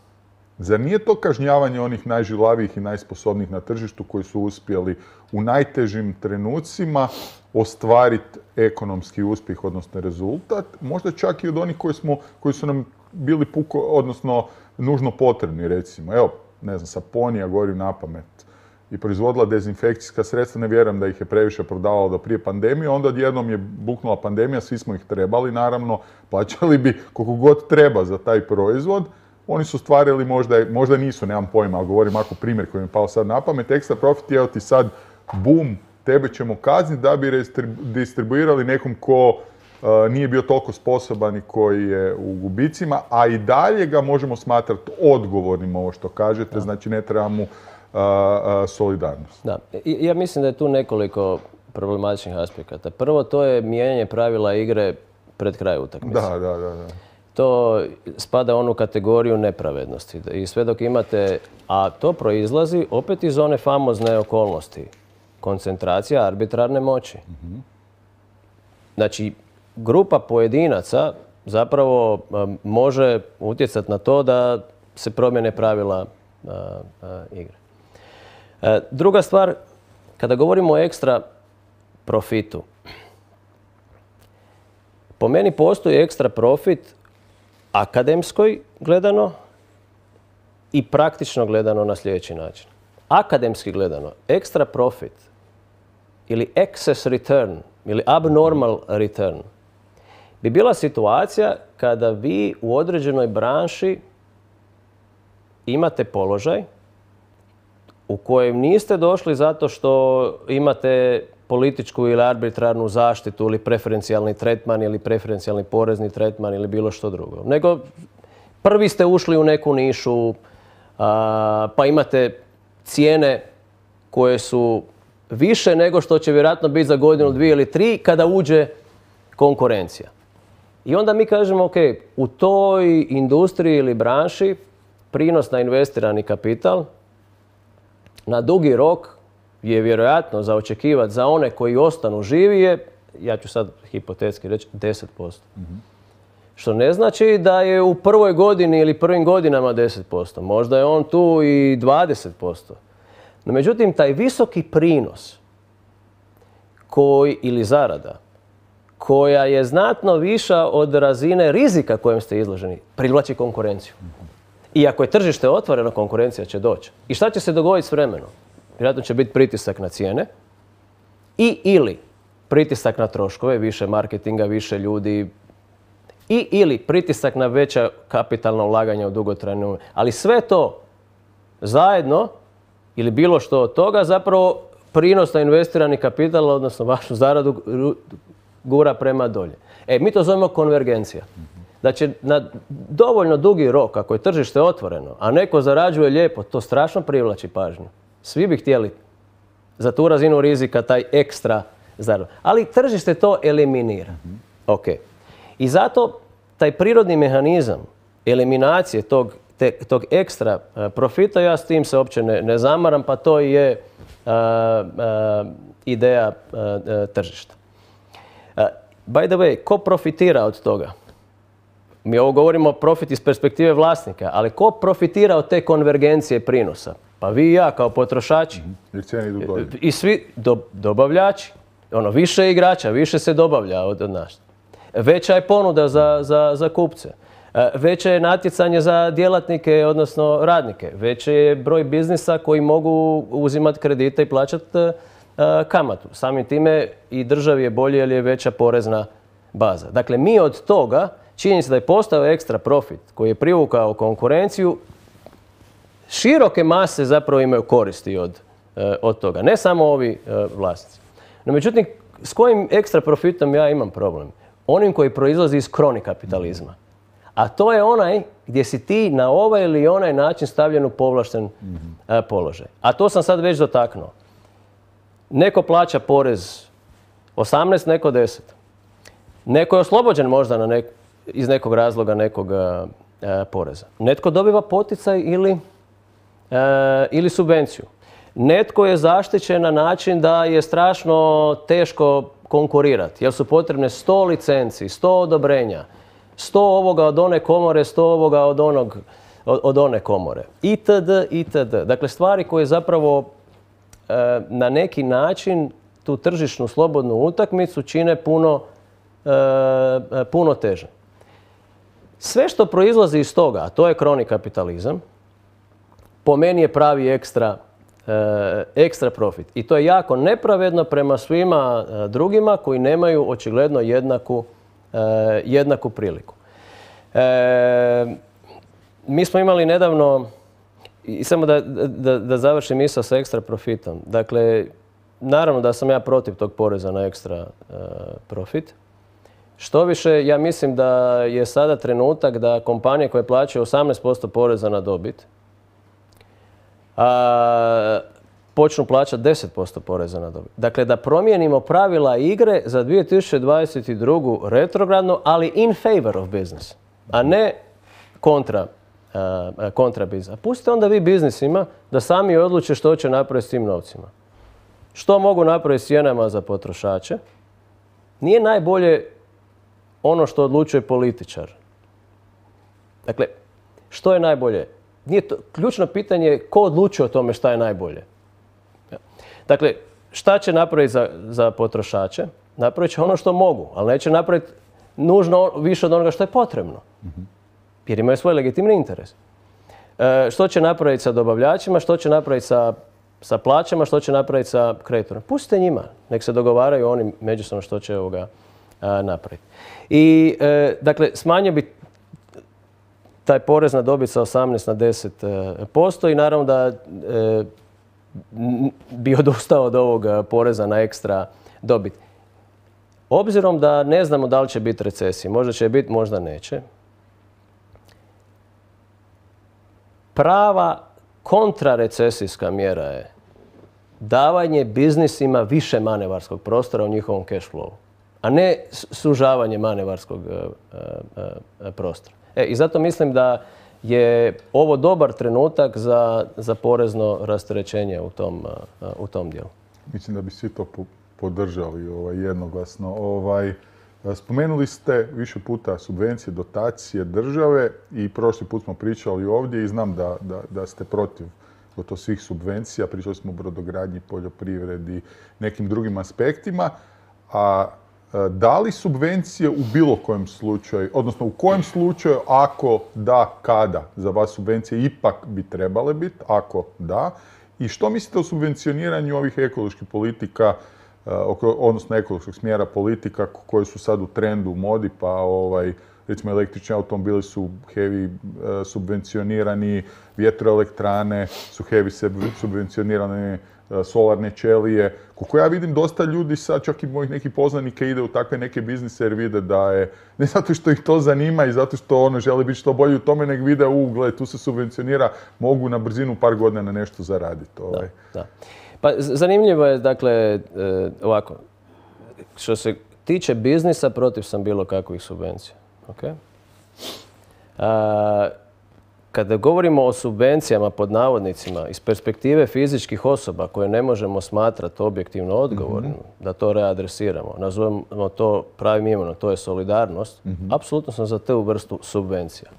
Zar nije to kažnjavanje onih najžilavijih i najsposobnijih na tržištu koji su uspjeli u najtežim trenucima ostvariti ekonomski uspjeh, odnosno rezultat, možda čak i od onih koji, smo, koji su nam bili puko, odnosno nužno potrebni, recimo. Evo, ne znam, Saponija, govorim na pamet, i proizvodila dezinfekcijska sredstva, ne vjerujem da ih je previše prodavalo do prije pandemije, onda odjednom je buknula pandemija, svi smo ih trebali, naravno, plaćali bi koliko god treba za taj proizvod. Oni su stvarili, možda, možda nisu, nemam pojma, ali govorim ako primjer koji mi je pao sad na pamet, ekstra profit je ti sad, bum, tebe ćemo kazniti da bi distribuirali nekom ko uh, nije bio toliko sposoban i koji je u gubicima, a i dalje ga možemo smatrati odgovornim, ovo što kažete, da. Znači ne treba mu uh, uh, solidarnost. Da, ja mislim da je tu nekoliko problematičnih aspekata. Prvo, to je mijenjanje pravila igre pred kraj utakmice. Da, da, da, da. To spada u onu kategoriju nepravednosti. I sve dok imate, a to proizlazi opet iz one famozne okolnosti. Koncentracija arbitrarne moći. Mm-hmm. Znači, grupa pojedinaca zapravo um, može utjecati na to da se promjene pravila uh, uh, igre. Uh, druga stvar, kada govorimo o ekstra profitu, po meni postoji ekstra profit akademskoj gledano i praktično gledano na sljedeći način. Akademski gledano, ekstra profit ili excess return ili abnormal return bi bila situacija kada vi u određenoj branši imate položaj u kojem niste došli zato što imate političku ili arbitrarnu zaštitu ili preferencijalni tretman ili preferencijalni porezni tretman ili bilo što drugo. Nego prvi ste ušli u neku nišu, a, pa imate cijene koje su više nego što će vjerojatno biti za godinu, dvije ili tri kada uđe konkurencija. I onda mi kažemo, ok, u toj industriji ili branši prinos na investirani kapital na dugi rok je vjerojatno za očekivati za one koji ostanu živi je, ja ću sad hipotetski reći, deset posto. Mm-hmm. Što ne znači da je u prvoj godini ili prvim godinama deset posto. Možda je on tu i dvadeset posto. No međutim, taj visoki prinos koji, ili zarada koja je znatno viša od razine rizika kojem ste izloženi, privlači konkurenciju. I ako je tržište otvoreno, konkurencija će doći. I šta će se dogoditi s vremenom? Vjerojatno će biti pritisak na cijene i ili pritisak na troškove, više marketinga, više ljudi i ili pritisak na veća kapitalna ulaganja u dugotrajnu. Ali sve to zajedno ili bilo što od toga zapravo prinos na investirani kapital, odnosno vašu zaradu, gura prema dolje. E, mi to zovemo konvergencija. Da će na dovoljno dugi rok, ako je tržište otvoreno, a neko zarađuje lijepo, to strašno privlači pažnju. Svi bi htjeli za tu razinu rizika taj ekstra zaradu. Ali tržište to eliminira. Ok. I zato taj prirodni mehanizam eliminacije tog, te, tog ekstra uh, profita, ja s tim se uopće ne, ne zamaram, pa to je uh, uh, ideja uh, uh, tržišta. Uh, by the way, ko profitira od toga? Mi ovo govorimo profit iz perspektive vlasnika, ali ko profitira od te konvergencije prinosa? Pa vi i ja kao potrošači. Jer cijene idu dolje. I svi do, dobavljači. Ono, više igrača, više se dobavlja od, od nas. Veća je ponuda za, za, za kupce. Veće je natjecanje za djelatnike, odnosno radnike. Veće je broj biznisa koji mogu uzimati kredite i plaćati uh, kamatu. Samim time i državi je bolje jer je veća porezna baza. Dakle, mi od toga, činjenica da je postao ekstra profit koji je privukao konkurenciju, široke mase zapravo imaju koristi od, uh, od toga. Ne samo ovi uh, vlasnici. No, međutim, s kojim ekstra profitom ja imam problem? Onim koji proizlazi iz kroni kapitalizma. A to je onaj gdje si ti na ovaj ili onaj način stavljen u povlašten mm-hmm. uh, položaj. A to sam sad već dotaknuo. Neko plaća porez osamnaest, neko deset. Neko je oslobođen možda na nek, iz nekog razloga nekog uh, poreza. Netko dobiva poticaj ili, uh, ili subvenciju. Netko je zaštićen na način da je strašno teško konkurirati, jer su potrebne sto licenci, sto odobrenja, sto ovoga od one komore, sto ovoga od, onog, od, od one komore, itd., itd. Dakle, stvari koje zapravo e, na neki način tu tržišnu slobodnu utakmicu čine puno, e, puno teže. Sve što proizlazi iz toga, a to je kroni kapitalizam, po meni je pravi ekstra ekstra profit. I to je jako nepravedno prema svima drugima koji nemaju očigledno jednaku, jednaku priliku. E, mi smo imali nedavno, i samo da, da, da završim misao sa ekstra profitom. Dakle, naravno da sam ja protiv tog poreza na ekstra uh, profit. Što više, ja mislim da je sada trenutak da kompanije koje plaćaju osamnaest posto poreza na dobit a, počnu plaćati deset posto poreza na dobit. Dakle, da promijenimo pravila igre za dvije tisuće dvadeset drugu retrogradno, ali in favor of business, a ne kontra, a, kontra biznis. Pustite onda vi biznisima da sami odluče što će napraviti s tim novcima. Što mogu napraviti s cijenama za potrošače? Nije najbolje ono što odlučuje političar. Dakle, što je najbolje? Nije to, ključno pitanje je ko odlučuje o tome šta je najbolje. Dakle, šta će napraviti za, za potrošače? Napravit će ono što mogu, ali neće napraviti nužno više od onoga što je potrebno. Jer imaju svoj legitimni interes. E, što će napraviti sa dobavljačima, što će napraviti sa, sa plaćama, što će napraviti sa kreditorima? Pustite njima, nek se dogovaraju oni međusobno što će ovoga a, napraviti. I, e, dakle, smanjio bi taj porez na dobit sa osamnaest na deset posto i naravno da e, bi odustao od ovog poreza na ekstra dobit. Obzirom da ne znamo da li će biti recesije, možda će biti, možda neće, prava kontrarecesijska mjera je davanje biznisima više manevarskog prostora u njihovom cash flowu, a ne sužavanje manevarskog prostora. E, I zato mislim da je ovo dobar trenutak za, za porezno rasterećenje u tom, u tom dijelu. Mislim da bi svi to podržali ovaj, jednoglasno. Ovaj, spomenuli ste više puta subvencije, dotacije države i prošli put smo pričali ovdje i znam da, da, da ste protiv gotovo svih subvencija. Pričali smo o brodogradnji, poljoprivredi, nekim drugim aspektima. A da li subvencije u bilo kojem slučaju, odnosno u kojem slučaju, ako da, kada za vas subvencije ipak bi trebale biti, ako da? I što mislite o subvencioniranju ovih ekoloških politika, odnosno ekološkog smjera politika koje su sad u trendu, u modi, pa ovaj, recimo električni automobili su heavy subvencionirani, vjetroelektrane su heavy subvencionirane, solarne ćelije. Koliko ja vidim, dosta ljudi sad, čak i mojih nekih poznanika, ide u takve neke biznise jer vide da je, ne zato što ih to zanima i zato što ono žele biti što bolji u tome, nek vide, u, gledaj, tu se subvencionira, mogu na brzinu par godina na nešto zaraditi. Ovaj. Da, da. Pa zanimljivo je, dakle, ovako, što se tiče biznisa, protiv sam bilo kakvih subvencija. Okay? A, kada govorimo o subvencijama pod navodnicima iz perspektive fizičkih osoba koje ne možemo smatrati objektivno odgovornim, mm-hmm. da to readresiramo, nazovemo to pravim imenom, to je solidarnost, mm-hmm. apsolutno sam za tu vrstu subvencija.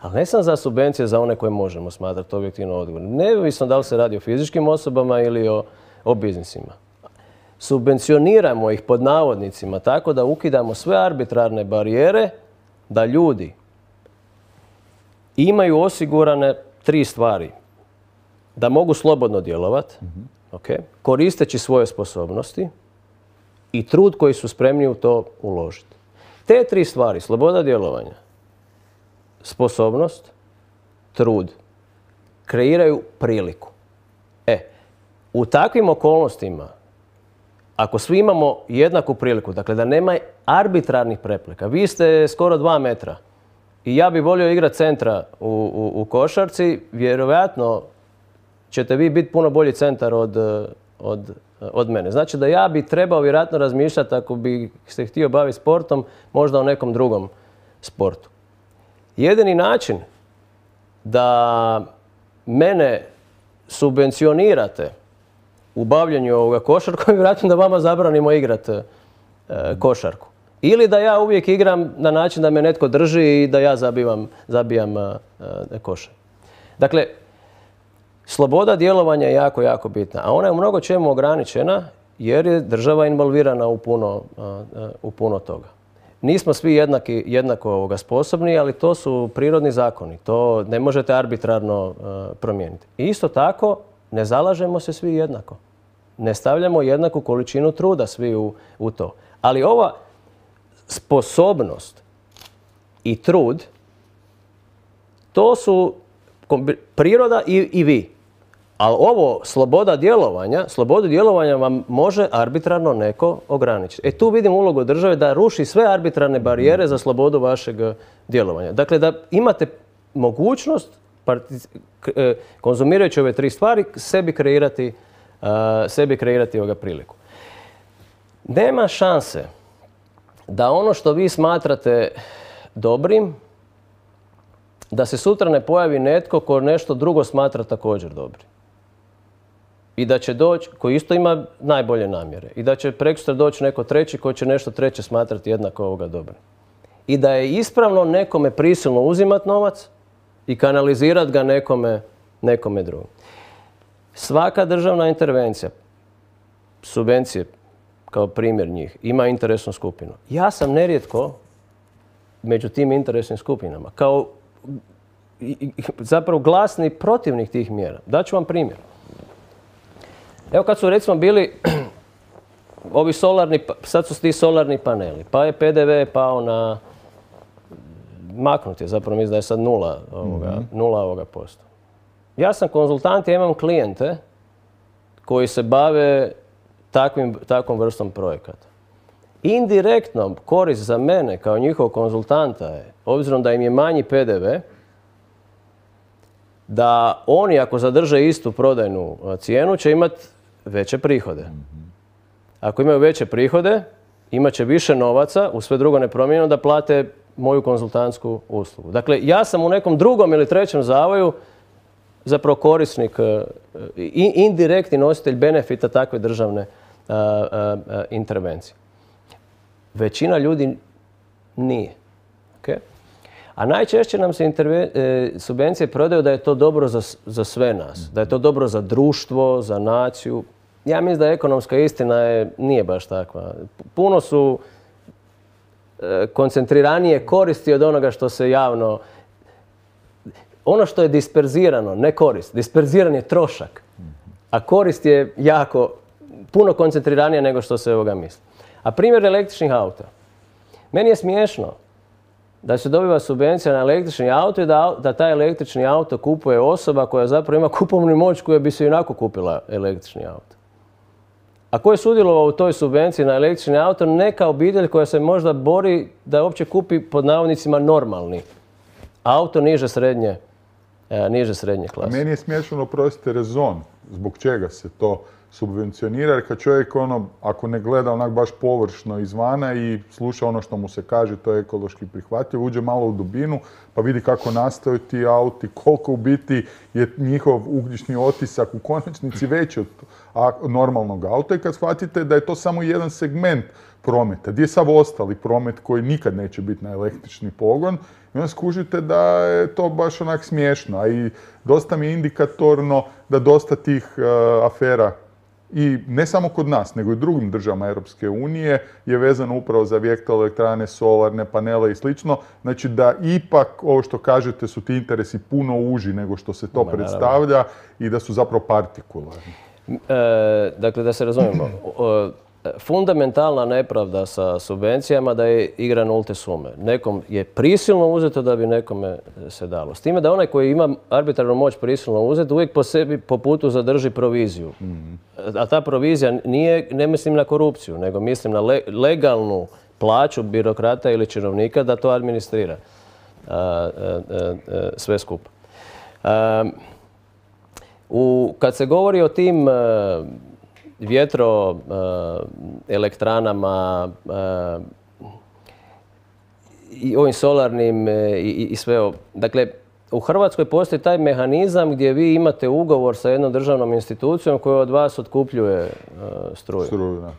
Ali ne sam za subvencije za one koje možemo smatrati objektivno odgovornim. Neovisno da li se radi o fizičkim osobama ili o, o biznisima. Subvencioniramo ih pod navodnicima tako da ukidamo sve arbitrarne barijere da ljudi imaju osigurane tri stvari. Da mogu slobodno djelovati, mm-hmm. okay, koristeći svoje sposobnosti i trud koji su spremni u to uložiti. Te tri stvari, sloboda djelovanja, sposobnost, trud, kreiraju priliku. E, u takvim okolnostima, ako svi imamo jednaku priliku, dakle da nema arbitrarnih prepreka, vi ste skoro dva metra i ja bih volio igrati centra u, u, u košarci, vjerojatno ćete vi biti puno bolji centar od, od, od mene. Znači da ja bi trebao vjerojatno razmišljati, ako bi se htio baviti sportom, možda o nekom drugom sportu. Jedini način da mene subvencionirate u bavljanju ovoga košarkom je vjerojatno da vama zabranimo igrati e, košarku. Ili da ja uvijek igram na način da me netko drži i da ja zabijam, zabijam e, košar. Dakle, sloboda djelovanja je jako, jako bitna. A ona je u mnogo čemu ograničena jer je država involvirana u puno, e, u puno toga. Nismo svi jednaki, jednako ovoga sposobni, ali to su prirodni zakoni. To ne možete arbitrarno uh, promijeniti. I isto tako, ne zalažemo se svi jednako. Ne stavljamo jednaku količinu truda svi u, u to. Ali ova sposobnost i trud, to su priroda i, i vi. Ali ovo, sloboda djelovanja, slobodu djelovanja vam može arbitrarno neko ograničiti. E tu vidim ulogu države da ruši sve arbitrarne barijere za slobodu vašeg djelovanja. Dakle, da imate mogućnost, konzumirajući ove tri stvari, sebi kreirati, uh, sebi kreirati ovoga priliku. Nema šanse da ono što vi smatrate dobrim, da se sutra ne pojavi netko ko nešto drugo smatra također dobrim. I da će doći, koji isto ima najbolje namjere. I da će prekosutra doći neko treći koji će nešto treće smatrati jednako ovoga dobro. I da je ispravno nekome prisilno uzimati novac i kanalizirati ga nekome, nekome drugom. Svaka državna intervencija, subvencije kao primjer njih, ima interesnu skupinu. Ja sam nerijetko među tim interesnim skupinama, kao zapravo glasni protivnik tih mjera. Daću vam primjer. Evo kad su recimo bili ovi solarni, sad su ti solarni paneli, pa je P D V pao na, maknut je, zapravo mislim da je sad nula ovoga, mm-hmm. nula ovoga posto. Ja sam konzultant, ja imam klijente koji se bave takvim, takvom vrstom projekata. Indirektno korist za mene kao njihov konzultanta je, obzirom da im je manji P D V, da oni ako zadrže istu prodajnu cijenu će imati veće prihode. Ako imaju veće prihode, imat će više novaca, u sve drugo nepromijenjeno, da plate moju konzultantsku uslugu. Dakle, ja sam u nekom drugom ili trećem zavoju zapravo korisnik, indirektni nositelj benefita takve državne a, a, a, intervencije. Većina ljudi nije. Okay? A najčešće nam se interve, e, subvencije prodaju da je to dobro za, za sve nas, da je to dobro za društvo, za naciju. Ja mislim da ekonomska istina je, nije baš takva. Puno su e, koncentriranije koristi od onoga što se javno... Ono što je disperzirano, ne korist. Disperziran je trošak. A korist je jako, puno koncentriranija nego što se ovoga misli. A primjer električnih auta. Meni je smiješno da se dobiva subvencija na električni auto i da, da taj električni auto kupuje osoba koja zapravo ima kupovnu moć koja bi se inako kupila električni auto. A ko je sudjelovao u toj subvenciji na električni auto? Neka obitelj koja se možda bori da uopće kupi pod navodnicima normalni auto niže srednje, e, niže srednje klase. A meni je smiješno, oprostite, rezon zbog čega se to subvencionira, jer kad čovjek ono, ako ne gleda onak baš površno izvana i sluša ono što mu se kaže, to je ekološki prihvatljivo, uđe malo u dubinu pa vidi kako nastaju ti auti, koliko u biti je njihov ugljični otisak u konačnici veći od normalnog auta i kad shvatite da je to samo jedan segment prometa, gdje je sav ostali promet koji nikad neće biti na električni pogon i onda skužite da je to baš onak smiješno, a i dosta mi je indikatorno da dosta tih uh, afera i ne samo kod nas, nego i u drugim državama Europske unije je vezano upravo za vjetroelektrane, solarne panele i slično. Znači da ipak, ovo što kažete, su ti interesi puno uži nego što se to Ma, predstavlja i da su zapravo partikularni. E, dakle, da se razumijemo, fundamentalna nepravda sa subvencijama da je igra nulte sume. Nekom je prisilno uzeto da bi nekome se dalo. S time da onaj koji ima arbitrarnu moć prisilno uzeti uvijek po sebi po putu zadrži proviziju. Mm-hmm. A ta provizija nije, ne mislim na korupciju, nego mislim na le, legalnu plaću birokrata ili činovnika da to administrira a, a, a, a, sve skupa. A, u, kad se govori o tim a, vjetroelektranama i ovim solarnim i, i sve ovo. Dakle, u Hrvatskoj postoji taj mehanizam gdje vi imate ugovor sa jednom državnom institucijom koja od vas otkupljuje uh, struju. Struju, da.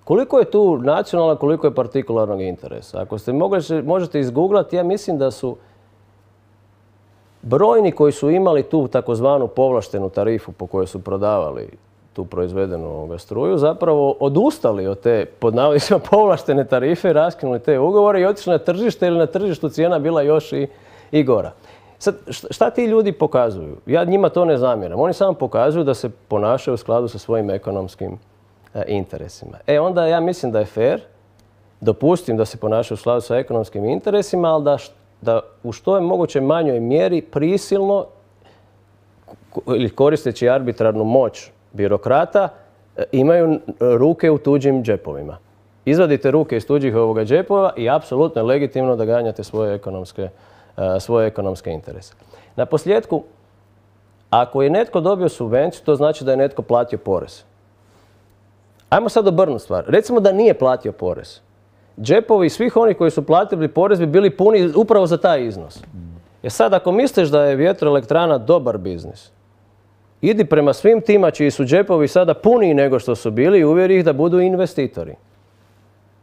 Koliko je tu nacionalna, koliko je partikularnog interesa? Ako ste mogli, možete izgooglati, ja mislim da su brojni koji su imali tu takozvanu povlaštenu tarifu po kojoj su prodavali tu proizvedenu struju, zapravo odustali od te, pod navodnicima, povlaštene tarife, raskinuli te ugovore i otišli na tržište ili na tržištu cijena bila još i, i gora. Sad, šta ti ljudi pokazuju? Ja njima to ne zamjeram. Oni samo pokazuju da se ponašaju u skladu sa svojim ekonomskim e, interesima. E onda ja mislim da je fair, dopustim da se ponašaju u skladu sa ekonomskim interesima, ali da da u što je moguće manjoj mjeri prisilno ili koristeći arbitrarnu moć birokrata imaju ruke u tuđim džepovima. Izvadite ruke iz tuđih ovoga džepova i apsolutno je legitimno da ganjate svoje ekonomske, svoje ekonomske interese. Na posljedku, ako je netko dobio subvenciju, to znači da je netko platio porez. Ajmo sad obrnuti stvar. Recimo da nije platio porez. Džepovi svih onih koji su platili porez bi bili puni upravo za taj iznos. Jer sad ako misliš da je vjetroelektrana dobar biznis, idi prema svim tima čiji su džepovi sada puniji nego što su bili i uvjeri ih da budu investitori.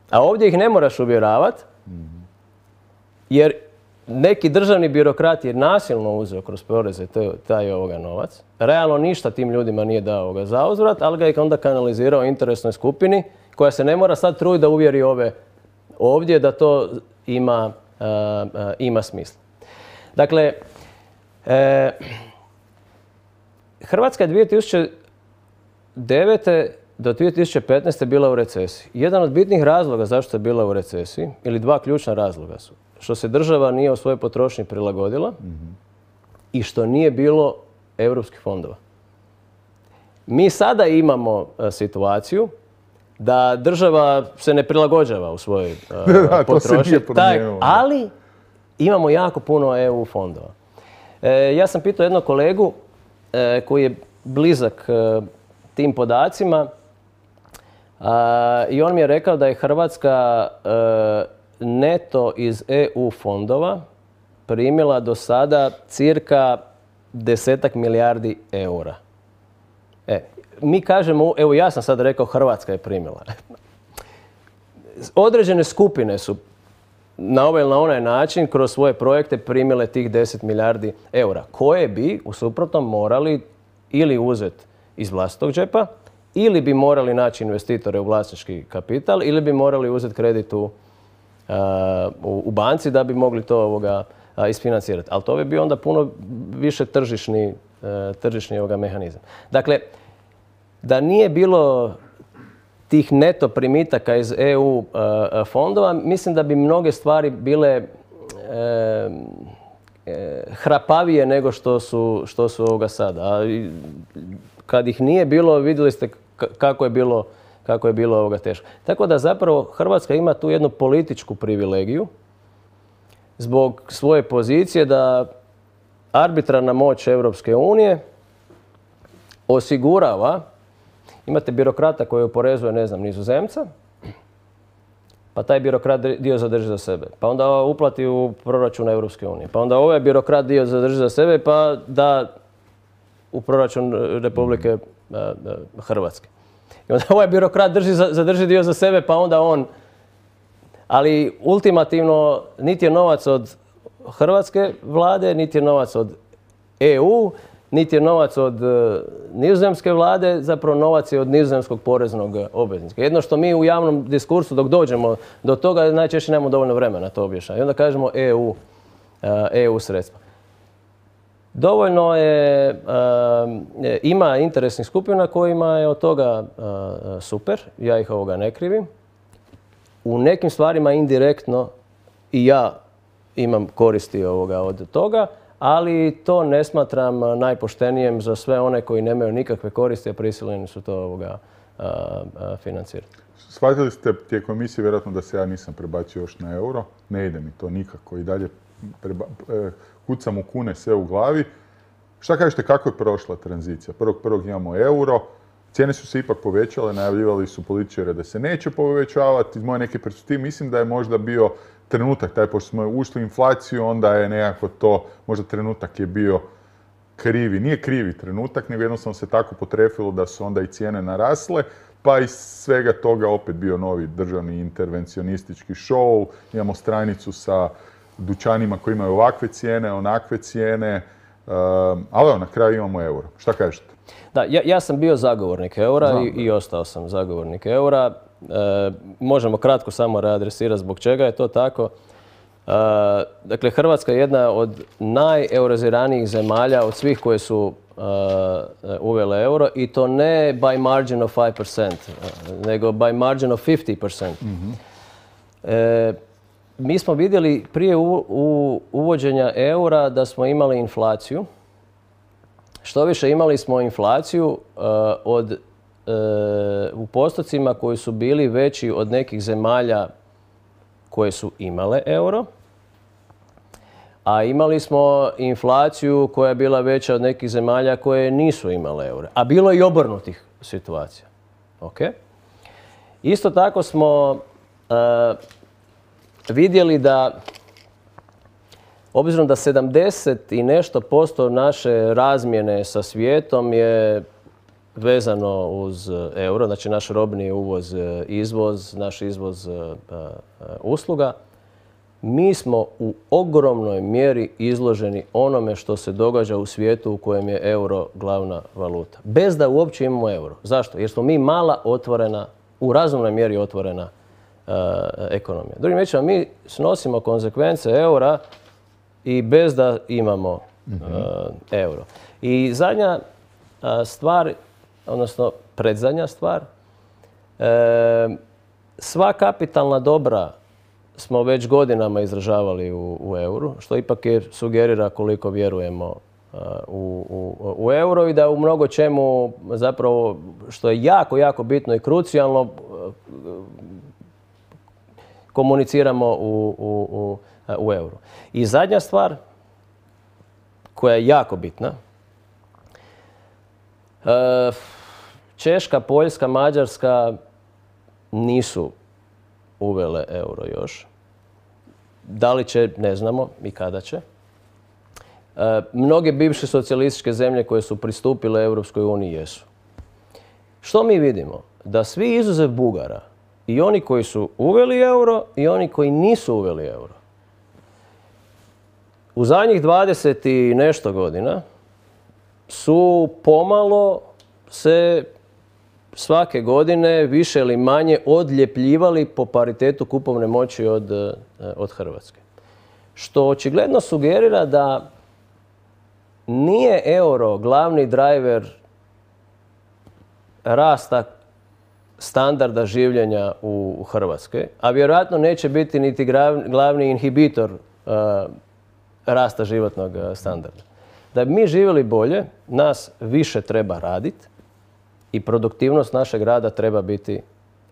A ovdje ih ne moraš uvjeravati, jer neki državni birokrat je nasilno uzeo kroz poreze taj ovoga novac. Realno ništa tim ljudima nije dao ovoga zauzvrat, ali ga je onda kanalizirao interesnoj skupini koja se ne mora sad truditi da uvjeri ove ovdje da to ima, uh, uh, ima smisla. Dakle, e, Hrvatska je dvije tisuće devete do dvije tisuće petnaeste bila u recesiji. Jedan od bitnih razloga zašto je bila u recesiji, ili dva ključna razloga su, što se država nije u svojoj potrošnji prilagodila mm-hmm. i što nije bilo europskih fondova. Mi sada imamo a, situaciju da država se ne prilagođava u svojoj a, Da, to se potrošnji, nije promijenilo. ali imamo jako puno E U fondova. E, ja sam pitao jednog kolegu e, koji je blizak e, tim podacima a, i on mi je rekao da je Hrvatska e, neto iz E U fondova primila do sada cirka desetak milijardi eura. E, mi kažemo, evo ja sam sad rekao Hrvatska je primila. Određene skupine su na ovaj ili na onaj način kroz svoje projekte primile tih deset milijardi eura, koje bi u suprotnom morali ili uzeti iz vlastitog džepa, ili bi morali naći investitore u vlasnički kapital, ili bi morali uzeti kredit u, uh, u, u banci da bi mogli to ovoga, uh, isfinancirati. Ali to bi bio onda puno više tržišni, uh, tržišni ovoga mehanizam. Dakle, da nije bilo tih neto primitaka iz E U uh, fondova, mislim da bi mnoge stvari bile e, e, hrapavije nego što su, što su ovoga sada. A kad ih nije bilo, vidjeli ste kako je bilo, kako je bilo ovoga teško. Tako da zapravo Hrvatska ima tu jednu političku privilegiju zbog svoje pozicije da arbitrarna moć Europske unije osigurava. Imate birokrata koji oporezuje, ne znam, Nizozemca, pa taj birokrat dio zadrži za sebe. Pa onda uplati u proračun Europske unije. Pa onda ovaj birokrat dio zadrži za sebe pa da u proračun Republike Hrvatske. I onda ovaj birokrat drži, zadrži dio za sebe pa onda on... Ali ultimativno niti je novac od hrvatske vlade, niti je novac od E U, niti je novac od uh, nizozemske vlade, zapravo novac je od nizozemskog poreznog obveznika. Jedno što mi u javnom diskursu dok dođemo do toga najčešće nemamo dovoljno vremena to objašnjavati. I onda kažemo E U, uh, E U sredstva. Dovoljno je, uh, ima interesnih skupina kojima je od toga uh, super, ja ih ovoga ne krivim. U nekim stvarima indirektno i ja imam koristi ovoga od toga, ali to ne smatram najpoštenijem za sve one koji nemaju nikakve koristi, a prisiljeni su to ovoga, a, a, financirati. Shvatili ste tijekom emisije vjerojatno da se ja nisam prebacio još na euro. Ne ide mi to nikako i dalje preba, e, kucam u kune sve u glavi. Šta kažete, kako je prošla tranzicija? Prvog prvog imamo euro, cijene su se ipak povećale, najavljivali su političari da se neće povećavati. Iz moje neke perspektive mislim da je možda bio trenutak, taj pošto smo ušli u inflaciju, onda je nekako to, možda trenutak je bio krivi. Nije krivi trenutak, nego jednostavno se tako potrefilo da su onda i cijene narasle, pa iz svega toga opet bio novi državni intervencionistički show. Imamo stranicu sa dućanima koji imaju ovakve cijene, onakve cijene, um, ali evo, na kraju imamo euro. Šta kažete? Da, ja, ja sam bio zagovornik eura i, i ostao sam zagovornik eura. E, možemo kratko samo readresirati zbog čega je to tako. E, dakle, Hrvatska je jedna od najeuriziranijih zemalja od svih koje su e, uvele euro i to ne by margin of five percent, nego by margin of fifty percent. Mm-hmm. E, mi smo vidjeli prije u, u, uvođenja eura da smo imali inflaciju. Što više imali smo inflaciju uh, od, uh, u postocima koji su bili veći od nekih zemalja koje su imale euro, a imali smo inflaciju koja je bila veća od nekih zemalja koje nisu imale euro. A bilo je i obrnutih situacija. Okay? Isto tako smo uh, vidjeli da obzirom da sedamdeset i nešto posto naše razmjene sa svijetom je vezano uz euro, znači naš robni uvoz, izvoz, naš izvoz usluga, mi smo u ogromnoj mjeri izloženi onome što se događa u svijetu u kojem je euro glavna valuta. Bez da uopće imamo euro. Zašto? Jer smo mi mala otvorena, u razumnoj mjeri otvorena uh, ekonomija. Drugim riječima, mi snosimo konsekvence eura i bez da imamo mm-hmm. uh, euro. I zadnja uh, stvar, odnosno predzadnja stvar, uh, sva kapitalna dobra smo već godinama izražavali u, u euru, što ipak je sugerira koliko vjerujemo uh, u, u, u euro i da u mnogo čemu zapravo, što je jako, jako bitno i krucijalno, komuniciramo u, u, u, u euru. I zadnja stvar koja je jako bitna, Češka, Poljska, Mađarska nisu uvele euro još. Da li će, ne znamo i kada će. Mnoge bivše socijalističke zemlje koje su pristupile Europskoj uniji jesu. Što mi vidimo? Da svi izuzev Bugara, i oni koji su uveli euro i oni koji nisu uveli euro, u zadnjih dvadeset i nešto godina su pomalo se svake godine više ili manje odljepljivali po paritetu kupovne moći od, od Hrvatske. Što očigledno sugerira da nije euro glavni driver rasta standarda življenja u Hrvatskoj, a vjerojatno neće biti niti glavni inhibitor uh, rasta životnog standarda. Da bi mi živjeli bolje, nas više treba raditi i produktivnost našeg rada treba biti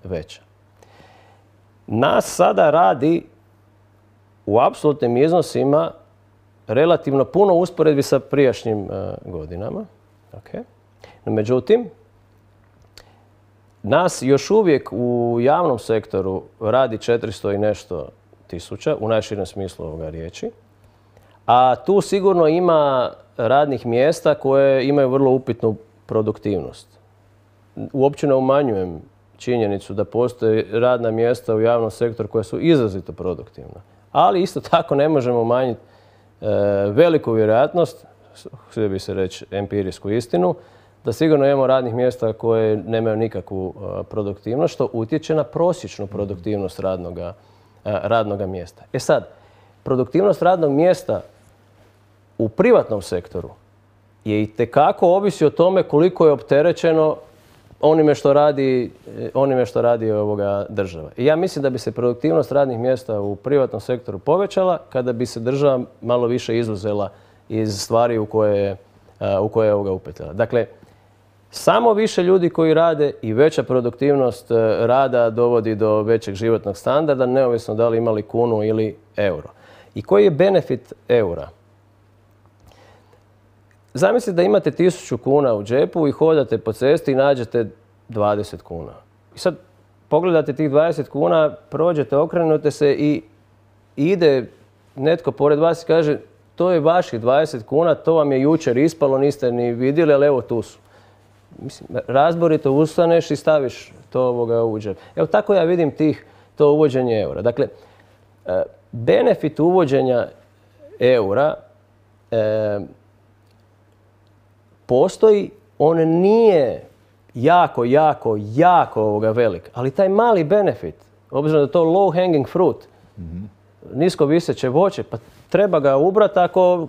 veća. Nas sada radi u apsolutnim iznosima relativno puno u usporedbi sa prijašnjim uh, godinama. Okay. No, međutim, nas još uvijek u javnom sektoru radi četiristo i nešto tisuća, u najširem smislu ovoga riječi. A tu sigurno ima radnih mjesta koje imaju vrlo upitnu produktivnost. Uopće ne umanjujem činjenicu da postoje radna mjesta u javnom sektoru koja su izrazito produktivna. Ali isto tako ne možemo umanjiti e, veliku vjerojatnost, htio bi se reći empirijsku istinu, da sigurno imamo radnih mjesta koje nemaju nikakvu uh, produktivnost, što utječe na prosječnu produktivnost radnoga, uh, radnoga mjesta. E sad, produktivnost radnog mjesta u privatnom sektoru je itekako ovisi o tome koliko je opterećeno onime što radi, onime što radi ovoga država. I ja mislim da bi se produktivnost radnih mjesta u privatnom sektoru povećala kada bi se država malo više izuzela iz stvari u koje, uh, u koje je ovoga upetljala. Dakle, samo više ljudi koji rade i veća produktivnost rada dovodi do većeg životnog standarda, neovisno da li imali kunu ili euro. I koji je benefit eura? Zamislite da imate tisuću kuna u džepu i hodate po cesti i nađete dvadeset kuna. I sad pogledate tih dvadeset kuna, prođete, okrenute se i ide netko pored vas i kaže to je vaših dvadeset kuna, to vam je jučer ispalo, niste ni vidjeli, ali evo tu su. Mislim, razborito ustaneš i staviš to ovoga u džep. Evo tako ja vidim tih, to uvođenje eura. Dakle, benefit uvođenja eura e, postoji, on nije jako, jako, jako ovoga velik, ali taj mali benefit, obzirom da je to low hanging fruit, mm-hmm. nisko viseće voće, pa treba ga ubrati ako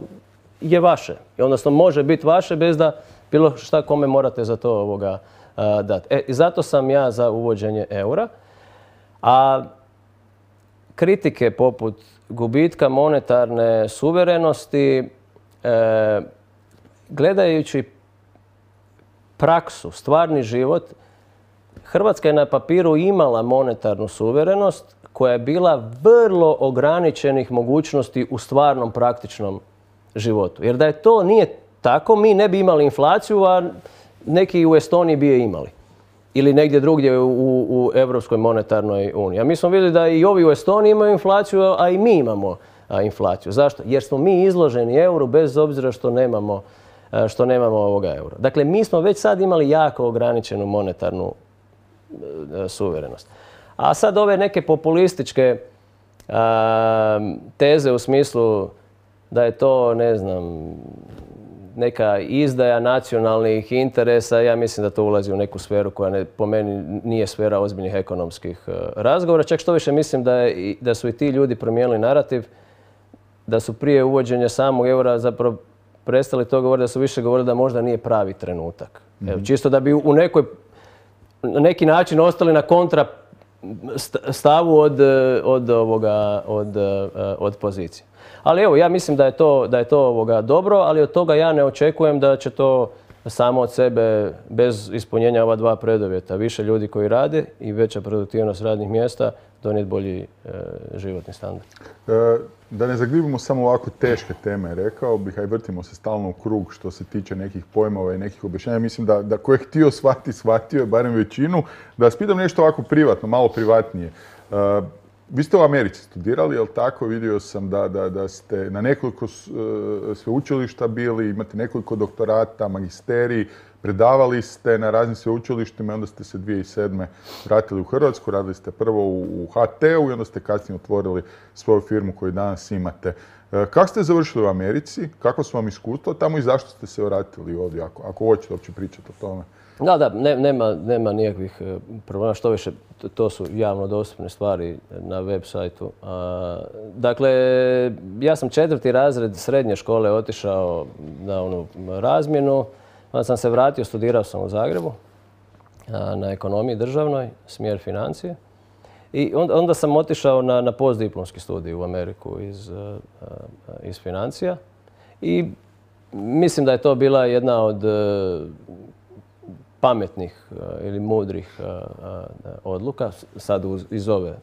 je vaše. Odnosno može biti vaše bez da bilo šta kome morate za to ovoga a, dati. E, zato sam ja za uvođenje eura. A kritike poput gubitka monetarne suverenosti, e, gledajući praksu, stvarni život, Hrvatska je na papiru imala monetarnu suverenost koja je bila vrlo ograničenih mogućnosti u stvarnom praktičnom životu. Jer da je to nije tako, mi ne bi imali inflaciju, a neki u Estoniji bi je imali. Ili negdje drugdje u, u Europskoj monetarnoj uniji. A mi smo vidjeli da i ovi u Estoniji imaju inflaciju, a i mi imamo a, inflaciju. Zašto? Jer smo mi izloženi euru bez obzira što nemamo, a, što nemamo ovoga eura. Dakle, mi smo već sad imali jako ograničenu monetarnu a, suverenost. A sad ove neke populističke a, teze u smislu da je to, ne znam, neka izdaja nacionalnih interesa, ja mislim da to ulazi u neku sferu koja ne, po meni nije sfera ozbiljnih ekonomskih uh, razgovora. Čak što više mislim da, je, da su i ti ljudi promijenili narativ, da su prije uvođenja samog eura zapravo prestali to govoriti, da su više govorili da možda nije pravi trenutak. Mm-hmm. Evo, čisto da bi u nekoj, na neki način ostali na kontra stavu od, od, ovoga, od, od pozicije. Ali evo, ja mislim da je to, da je to ovoga dobro, ali od toga ja ne očekujem da će to samo od sebe, bez ispunjenja ova dva preduvjeta, više ljudi koji rade i veća produktivnost radnih mjesta, donijeti bolji e, životni standard. E, da ne zaglibimo samo ovako teške teme, rekao bih, a i vrtimo se stalno u krug što se tiče nekih pojmova i nekih objašnjenja. Mislim da, da ko je htio shvati, shvatio je barem većinu. Da vas pitam nešto ovako privatno, malo privatnije. E, vi ste u Americi studirali, jel tako? Vidio sam da, da, da ste na nekoliko uh, sveučilišta bili, imate nekoliko doktorata, magisterij, predavali ste na raznim sveučilištima i onda ste se dvije tisuće sedme vratili u Hrvatsku, radili ste prvo u, u H T-u i onda ste kasnije otvorili svoju firmu koju danas imate. Uh, kako ste završili u Americi? Kako su vam iskustvo tamo i zašto ste se vratili ovdje, ako, ako hoćete uopće pričati o tome? Da, da, ne, nema, nema nikakvih problema, što više, to, to su javno dostupne stvari na web sajtu. A, dakle, ja sam četvrti razred srednje škole otišao na onu razmjenu, onda sam se vratio, studirao sam u Zagrebu a, na ekonomiji državnoj, smjer financije. I onda, onda sam otišao na, na postdiplomski studij u Ameriku iz, a, iz financija i mislim da je to bila jedna od pametnih ili mudrih odluka, sad iz ove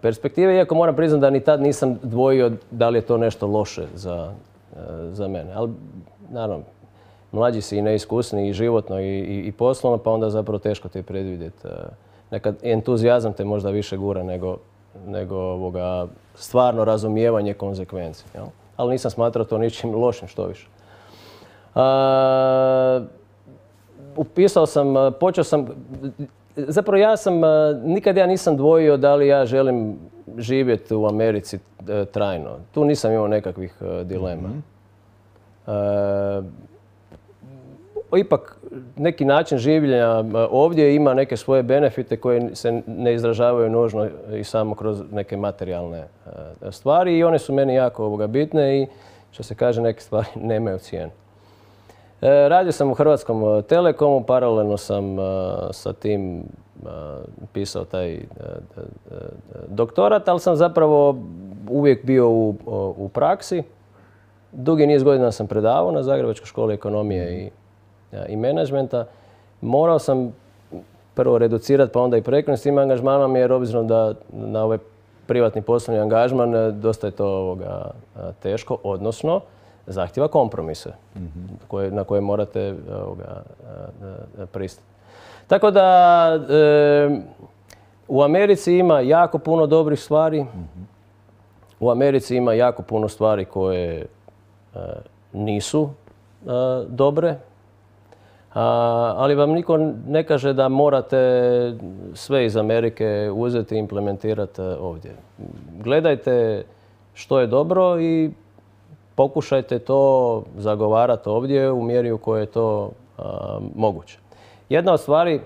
perspektive, iako moram priznati da ni tad nisam dvojio da li je to nešto loše za, za mene. Ali, naravno, mlađi si i neiskusni i životno i, i, i poslovno, pa onda zapravo teško te predvidjeti. Nekad entuzijazam te možda više gura nego, nego ovoga, stvarno razumijevanje konzekvenci. Jel? Ali nisam smatrao to ničim lošim, što više. A, upisao sam, počeo sam, zapravo ja sam, nikad ja nisam dvojio da li ja želim živjeti u Americi trajno. Tu nisam imao nekakvih dilema. Mm-hmm. E, ipak neki način življenja ovdje ima neke svoje benefite koje se ne izražavaju nužno i samo kroz neke materijalne stvari i one su meni jako ovoga bitne i što se kaže neke stvari nemaju cijenu. Radio sam u Hrvatskom Telekomu, paralelno sam sa tim pisao taj doktorat, ali sam zapravo uvijek bio u, u praksi. Dugi niz godina sam predavao na Zagrebačkoj školi ekonomije i, i menadžmenta. Morao sam prvo reducirati, pa onda i prekinuti s tim angažmanom, jer obzirom da na ovaj privatni poslovni angažman dosta je to ovoga, teško, odnosno zahtjeva kompromise mm-hmm. koje, na koje morate ovoga, pristati. Tako da e, u Americi ima jako puno dobrih stvari. Mm-hmm. U Americi ima jako puno stvari koje e, nisu e, dobre. A, ali vam niko ne kaže da morate sve iz Amerike uzeti i implementirati ovdje. Gledajte što je dobro i pokušajte to zagovarati ovdje u mjeri u kojoj je to a, moguće. Jedna od stvari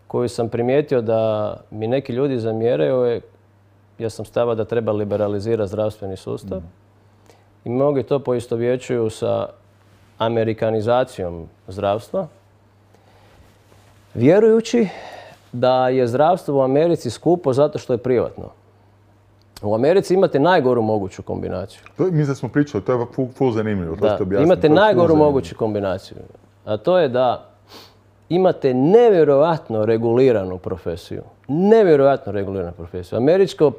koju sam primijetio da mi neki ljudi zamjeraju je, ja sam stava da treba liberalizirati zdravstveni sustav. Mm. I mnogi to poistovjećuju sa amerikanizacijom zdravstva, vjerujući da je zdravstvo u Americi skupo zato što je privatno. U Americi imate najgoru moguću kombinaciju. To, mi da smo pričali, to je full, full zanimljivo. Da, to imate najgoru moguću kombinaciju. A to je da imate nevjerojatno reguliranu profesiju. Nevjerojatno reguliranu profesiju. Američko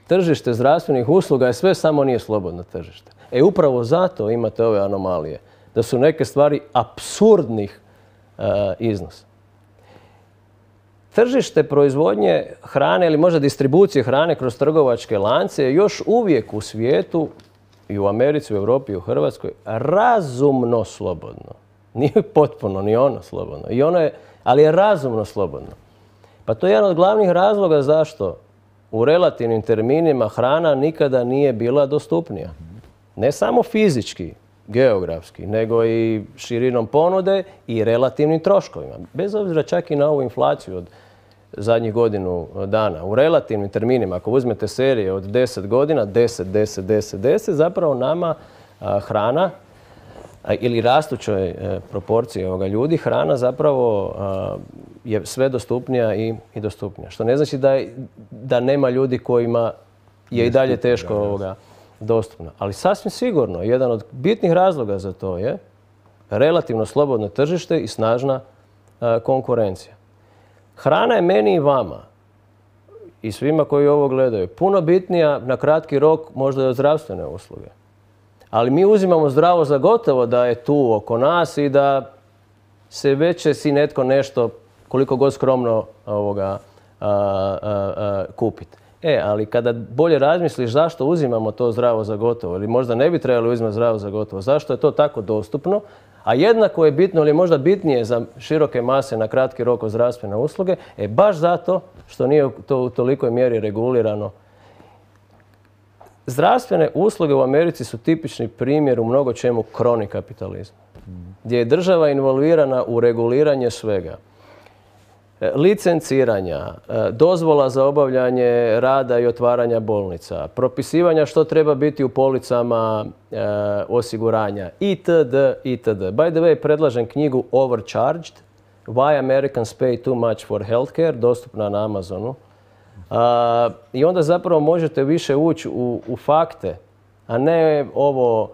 tržište zdravstvenih usluga je sve samo nije slobodno tržište. E upravo zato imate ove anomalije. Da su neke stvari apsurdnih uh, iznosa. Tržište proizvodnje hrane ili možda distribucije hrane kroz trgovačke lance je još uvijek u svijetu i u Americi, u Europi i u Hrvatskoj razumno slobodno. Nije potpuno ni ono slobodno. I ono je, ali je razumno slobodno. Pa to je jedan od glavnih razloga zašto u relativnim terminima hrana nikada nije bila dostupnija. Ne samo fizički, geografski, nego i širinom ponude i relativnim troškovima. Bez obzira čak i na ovu inflaciju od zadnjih godinu dana. U relativnim terminima, ako uzmete serije od deset godina, deset, deset, deset, deset, zapravo nama a, hrana a, ili rastućoj e, proporciji ovoga ljudi, hrana zapravo a, je sve dostupnija i, i dostupnija. Što ne znači da, da nema ljudi kojima je i dalje teško ovoga dostupna. Ali sasvim sigurno, jedan od bitnih razloga za to je relativno slobodno tržište i snažna a, konkurencija. Hrana je meni i vama i svima koji ovo gledaju puno bitnija na kratki rok možda i od zdravstvene usluge. Ali mi uzimamo zdravo za gotovo da je tu oko nas i da se već će si netko nešto, koliko god skromno, ovoga, a, a, a, kupiti. E, ali kada bolje razmisliš zašto uzimamo to zdravo za gotovo, ili možda ne bi trebali uzimati zdravo za gotovo, zašto je to tako dostupno, a jednako je bitno ili možda bitnije za široke mase na kratki rok od zdravstvene usluge, e baš zato što nije to u tolikoj mjeri regulirano. Zdravstvene usluge u Americi su tipični primjer u mnogo čemu kroni kapitalizma, gdje je država involvirana u reguliranje svega. Licenciranja, dozvola za obavljanje rada i otvaranja bolnica, propisivanja što treba biti u policama e, osiguranja itd. itd. By the way, predlažem knjigu Overcharged, Why Americans Pay Too Much for Healthcare, dostupna na Amazonu. A, I onda zapravo možete više ući u, u fakte, a ne ovo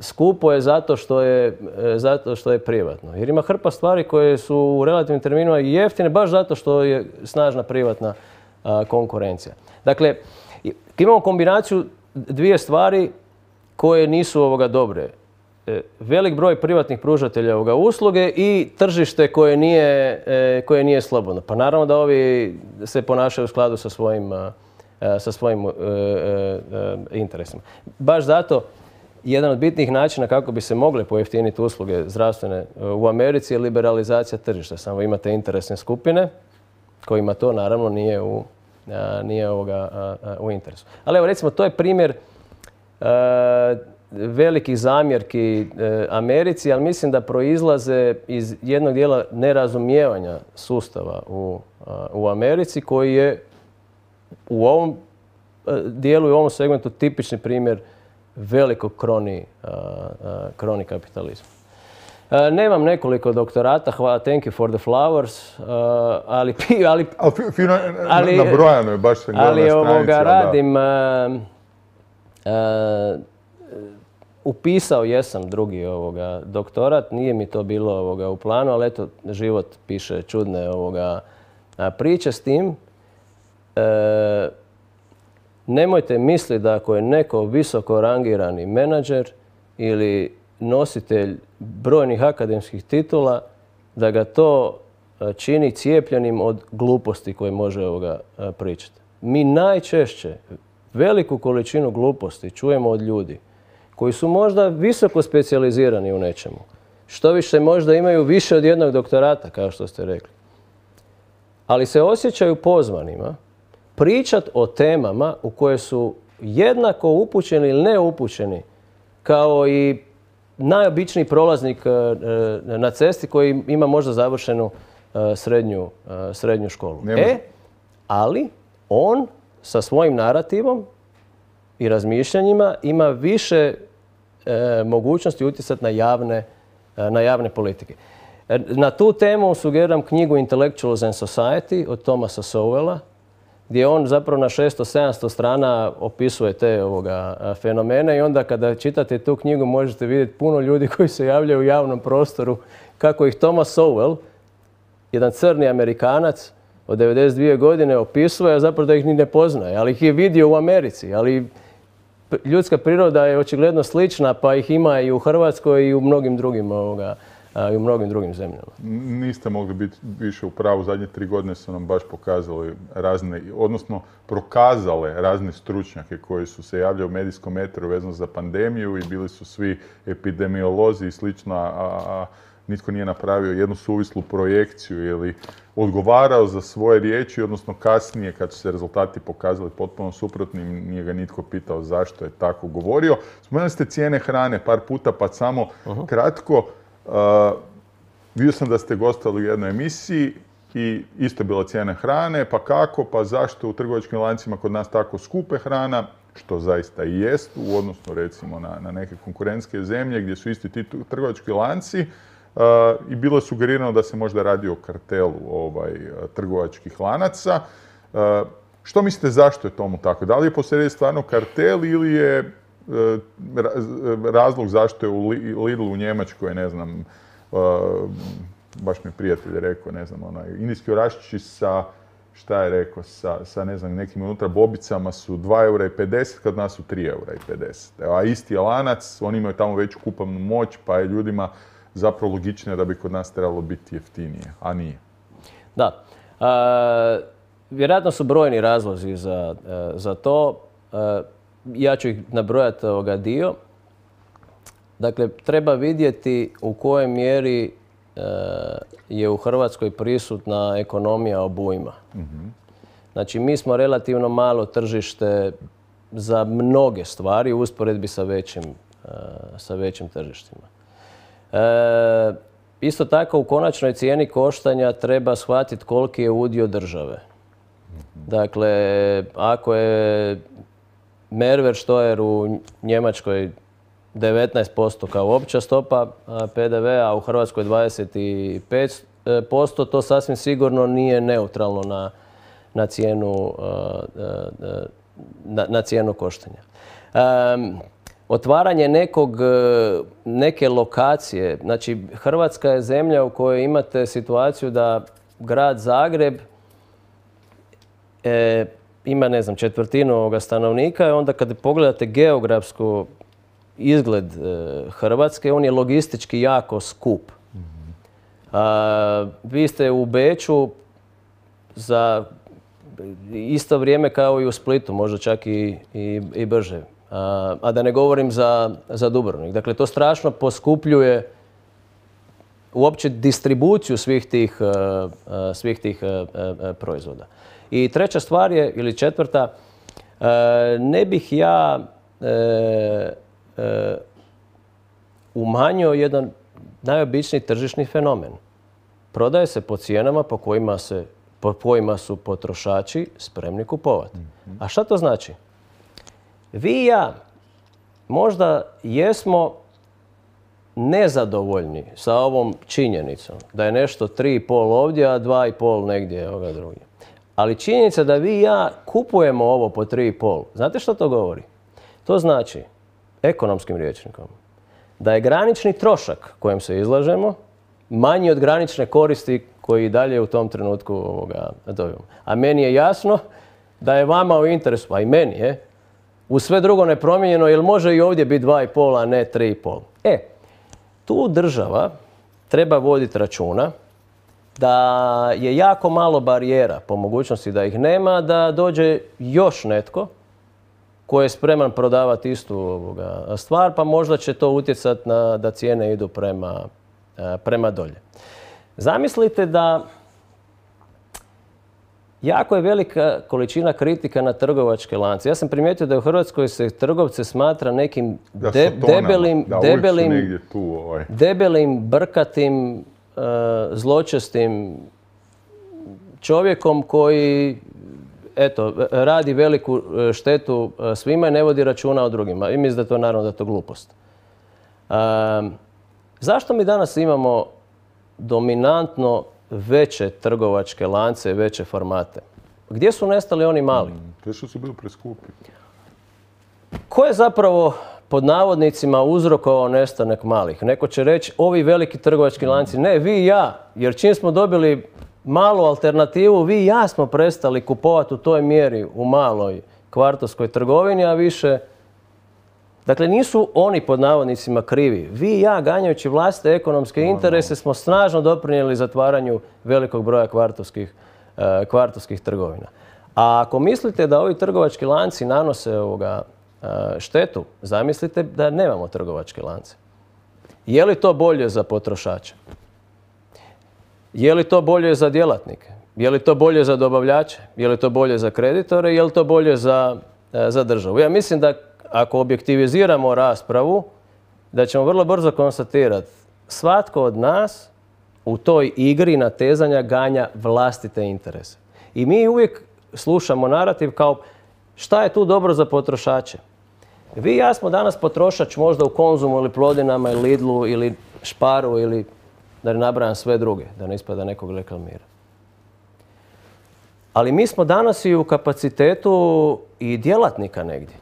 skupo je zato što je, zato što je privatno. Jer ima hrpa stvari koje su u relativnim terminima jeftine baš zato što je snažna privatna a, konkurencija. Dakle, imamo kombinaciju dvije stvari koje nisu ovoga dobre. E, velik broj privatnih pružatelja ovoga usluge i tržište koje nije, e, koje nije slobodno. Pa naravno da ovi se ponašaju u skladu sa svojim, a, sa svojim e, e, interesima. Baš zato jedan od bitnih načina kako bi se mogle pojeftiniti usluge zdravstvene u Americi je liberalizacija tržišta. Samo imate interesne skupine kojima to naravno nije u, a, nije ovoga, a, a, u interesu. Ali evo recimo to je primjer a, velikih zamjerki a, Americi, ali mislim da proizlaze iz jednog dijela nerazumijevanja sustava u, a, u Americi koji je u ovom a, dijelu i u ovom segmentu tipični primjer velikog kroni, uh, uh, kroni kapitalizma. Uh, nemam nekoliko doktorata, hvala, thank you for the flowers, uh, ali... ali, ali fino, ali nabrojano je, baš sam gledao na stranici. Ali ovoga radim, uh, uh, upisao jesam drugi ovoga doktorat, nije mi to bilo ovoga u planu, ali eto, život piše čudne ovoga priče s tim. Uh, Nemojte misliti da ako je neko visoko rangirani menadžer ili nositelj brojnih akademskih titula, da ga to čini cijepljenim od gluposti koje može ovoga pričati. Mi najčešće veliku količinu gluposti čujemo od ljudi koji su možda visoko specijalizirani u nečemu. Što više možda imaju više od jednog doktorata, kao što ste rekli. Ali se osjećaju pozvanima pričat o temama u koje su jednako upućeni ili neupućeni kao i najobičniji prolaznik na cesti koji ima možda završenu srednju, srednju školu. E, ali on sa svojim narativom i razmišljanjima ima više e, mogućnosti utjecati na javne, na javne politike. Na tu temu sugeriram knjigu Intellectuals and Society od Thomasa Sowella, gdje on zapravo na šesto sedamsto strana opisuje te ovoga fenomene i onda kada čitate tu knjigu možete vidjeti puno ljudi koji se javljaju u javnom prostoru kako ih Thomas Sowell, jedan crni Amerikanac od devedeset dvije godine opisuje, a zapravo da ih ni ne poznaje, ali ih je vidio u Americi. Ali ljudska priroda je očigledno slična, pa ih ima i u Hrvatskoj i u mnogim drugim ovoga, i u mnogim drugim zemljama. Niste mogli biti više u pravu. Zadnje tri godine su nam baš pokazali razne, odnosno prokazale razne stručnjake koji su se javljali u medijskom eteru vezano za pandemiju i bili su svi epidemiolozi i slično, a, a nitko nije napravio jednu suvislu projekciju ili odgovarao za svoje riječi, odnosno kasnije kad su se rezultati pokazali potpuno suprotnim, nije ga nitko pitao zašto je tako govorio. Spomenuli ste cijene hrane par puta, pa samo uh-huh. kratko. Uh, vidio sam da ste gostovali u jednoj emisiji i isto je bila cijena hrane, pa kako, pa zašto u trgovačkim lancima kod nas tako skupe hrana, što zaista i jest, u odnosu recimo na, na neke konkurentske zemlje gdje su isti ti trgovački lanci uh, i bilo je sugerirano da se možda radi o kartelu ovaj, trgovačkih lanaca. Uh, Što mislite zašto je tomu tako? Da li je posrijedi stvarno kartel ili je e, razlog zašto je u Lidlu u Njemačkoj, ne znam, e, baš mi je prijatelj rekao, ne znam, onaj, indijski oraščići sa, šta je rekao, sa, sa ne znam, nekim unutra bobicama su dva eura i pedeset, kad nas su tri eura i pedeset. A isti je lanac, oni imaju tamo veću kupovnu moć, pa je ljudima zapravo logičnije da bi kod nas trebalo biti jeftinije, a nije. Da. A, vjerojatno su brojni razlozi za, za to. A, ja ću ih nabrojati ovoga dio. Dakle, treba vidjeti u kojoj mjeri je u Hrvatskoj prisutna ekonomija obujma. Mm-hmm. Znači, mi smo relativno malo tržište za mnoge stvari u usporedbi sa većim, sa većim tržištima. E, isto tako, u konačnoj cijeni koštanja treba shvatiti koliki je udio države. Mm-hmm. Dakle, ako je Mehrwertsteuer u Njemačkoj devetnaest posto kao opća stopa P D V-a, a u Hrvatskoj dvadeset pet posto, to sasvim sigurno nije neutralno na, na, cijenu, na, na cijenu koštanja. Um, otvaranje nekog, neke lokacije, znači Hrvatska je zemlja u kojoj imate situaciju da grad Zagreb e, ima, ne znam, četvrtinu ovoga stanovnika i onda kad pogledate geografsku izgled e, Hrvatske, on je logistički jako skup. Mm-hmm. A, vi ste u Beču za isto vrijeme kao i u Splitu, možda čak i, i, i brže. A, a da ne govorim za, za Dubrovnik. Dakle, to strašno poskupljuje uopće distribuciju svih tih, uh, svih tih uh, uh, proizvoda. I treća stvar je, ili četvrta, uh, ne bih ja uh, uh, umanjio jedan najobičniji tržišni fenomen. Prodaje se po cijenama po kojima, se, po kojima su potrošači spremni kupovati. Mm-hmm. A šta to znači? Vi i ja možda jesmo nezadovoljni sa ovom činjenicom da je nešto tri i pol ovdje, a dva i pol negdje ovoga drugdje. Ali činjenica da vi i ja kupujemo ovo po tri i pol, znate što to govori? To znači, ekonomskim rječnikom, da je granični trošak kojem se izlažemo manji od granične koristi koji dalje u tom trenutku ovoga dobijemo. A meni je jasno da je vama u interesu, a i meni je, u sve drugo nepromijenjeno, jer može i ovdje biti dva i pol, a ne tri i pol. E, tu država treba voditi računa da je jako malo barijera, po mogućnosti da ih nema, da dođe još netko koji je spreman prodavati istu ovoga stvar, pa možda će to utjecati na da cijene idu prema, prema dolje. Zamislite da jako je velika količina kritika na trgovačke lance. Ja sam primijetio da u Hrvatskoj se trgovce smatra nekim de, debelim, da, debelim, tu, ovaj. debelim, brkatim, uh, zločestim čovjekom koji eto, radi veliku štetu svima i ne vodi računa o drugima. I mislim da je to naravno da je to glupost. Uh, zašto mi danas imamo dominantno veće trgovačke lance, veće formate? Gdje su nestali oni mali? To što su bili preskupi. Ko je zapravo pod navodnicima uzrokovao nestanak malih? Neko će reći, ovi veliki trgovački lanci. Ne, vi i ja. Jer čim smo dobili malu alternativu, vi i ja smo prestali kupovati u toj mjeri u maloj kvartovskoj trgovini, a više... Dakle, nisu oni pod navodnicima krivi. Vi i ja, ganjajući vlastite ekonomske interese, smo snažno doprinijeli zatvaranju velikog broja kvartovskih, uh, kvartovskih trgovina. A ako mislite da ovi trgovački lanci nanose ovoga, uh, štetu, zamislite da nemamo trgovačke lance. Je li to bolje za potrošače? Je li to bolje za djelatnike? Je li to bolje za dobavljače? Je li to bolje za kreditore? Je li to bolje za, uh, za državu? Ja mislim da ako objektiviziramo raspravu, da ćemo vrlo brzo konstatirati svatko od nas u toj igri natezanja ganja vlastite interese. I mi uvijek slušamo narativ kao šta je tu dobro za potrošače. Vi i ja smo danas potrošač možda u Konzumu ili Plodinama ili Lidlu ili Sparu ili da ne nabrajam sve druge, da ne ispada nekog reklamira. Ali mi smo danas i u kapacitetu i djelatnika negdje.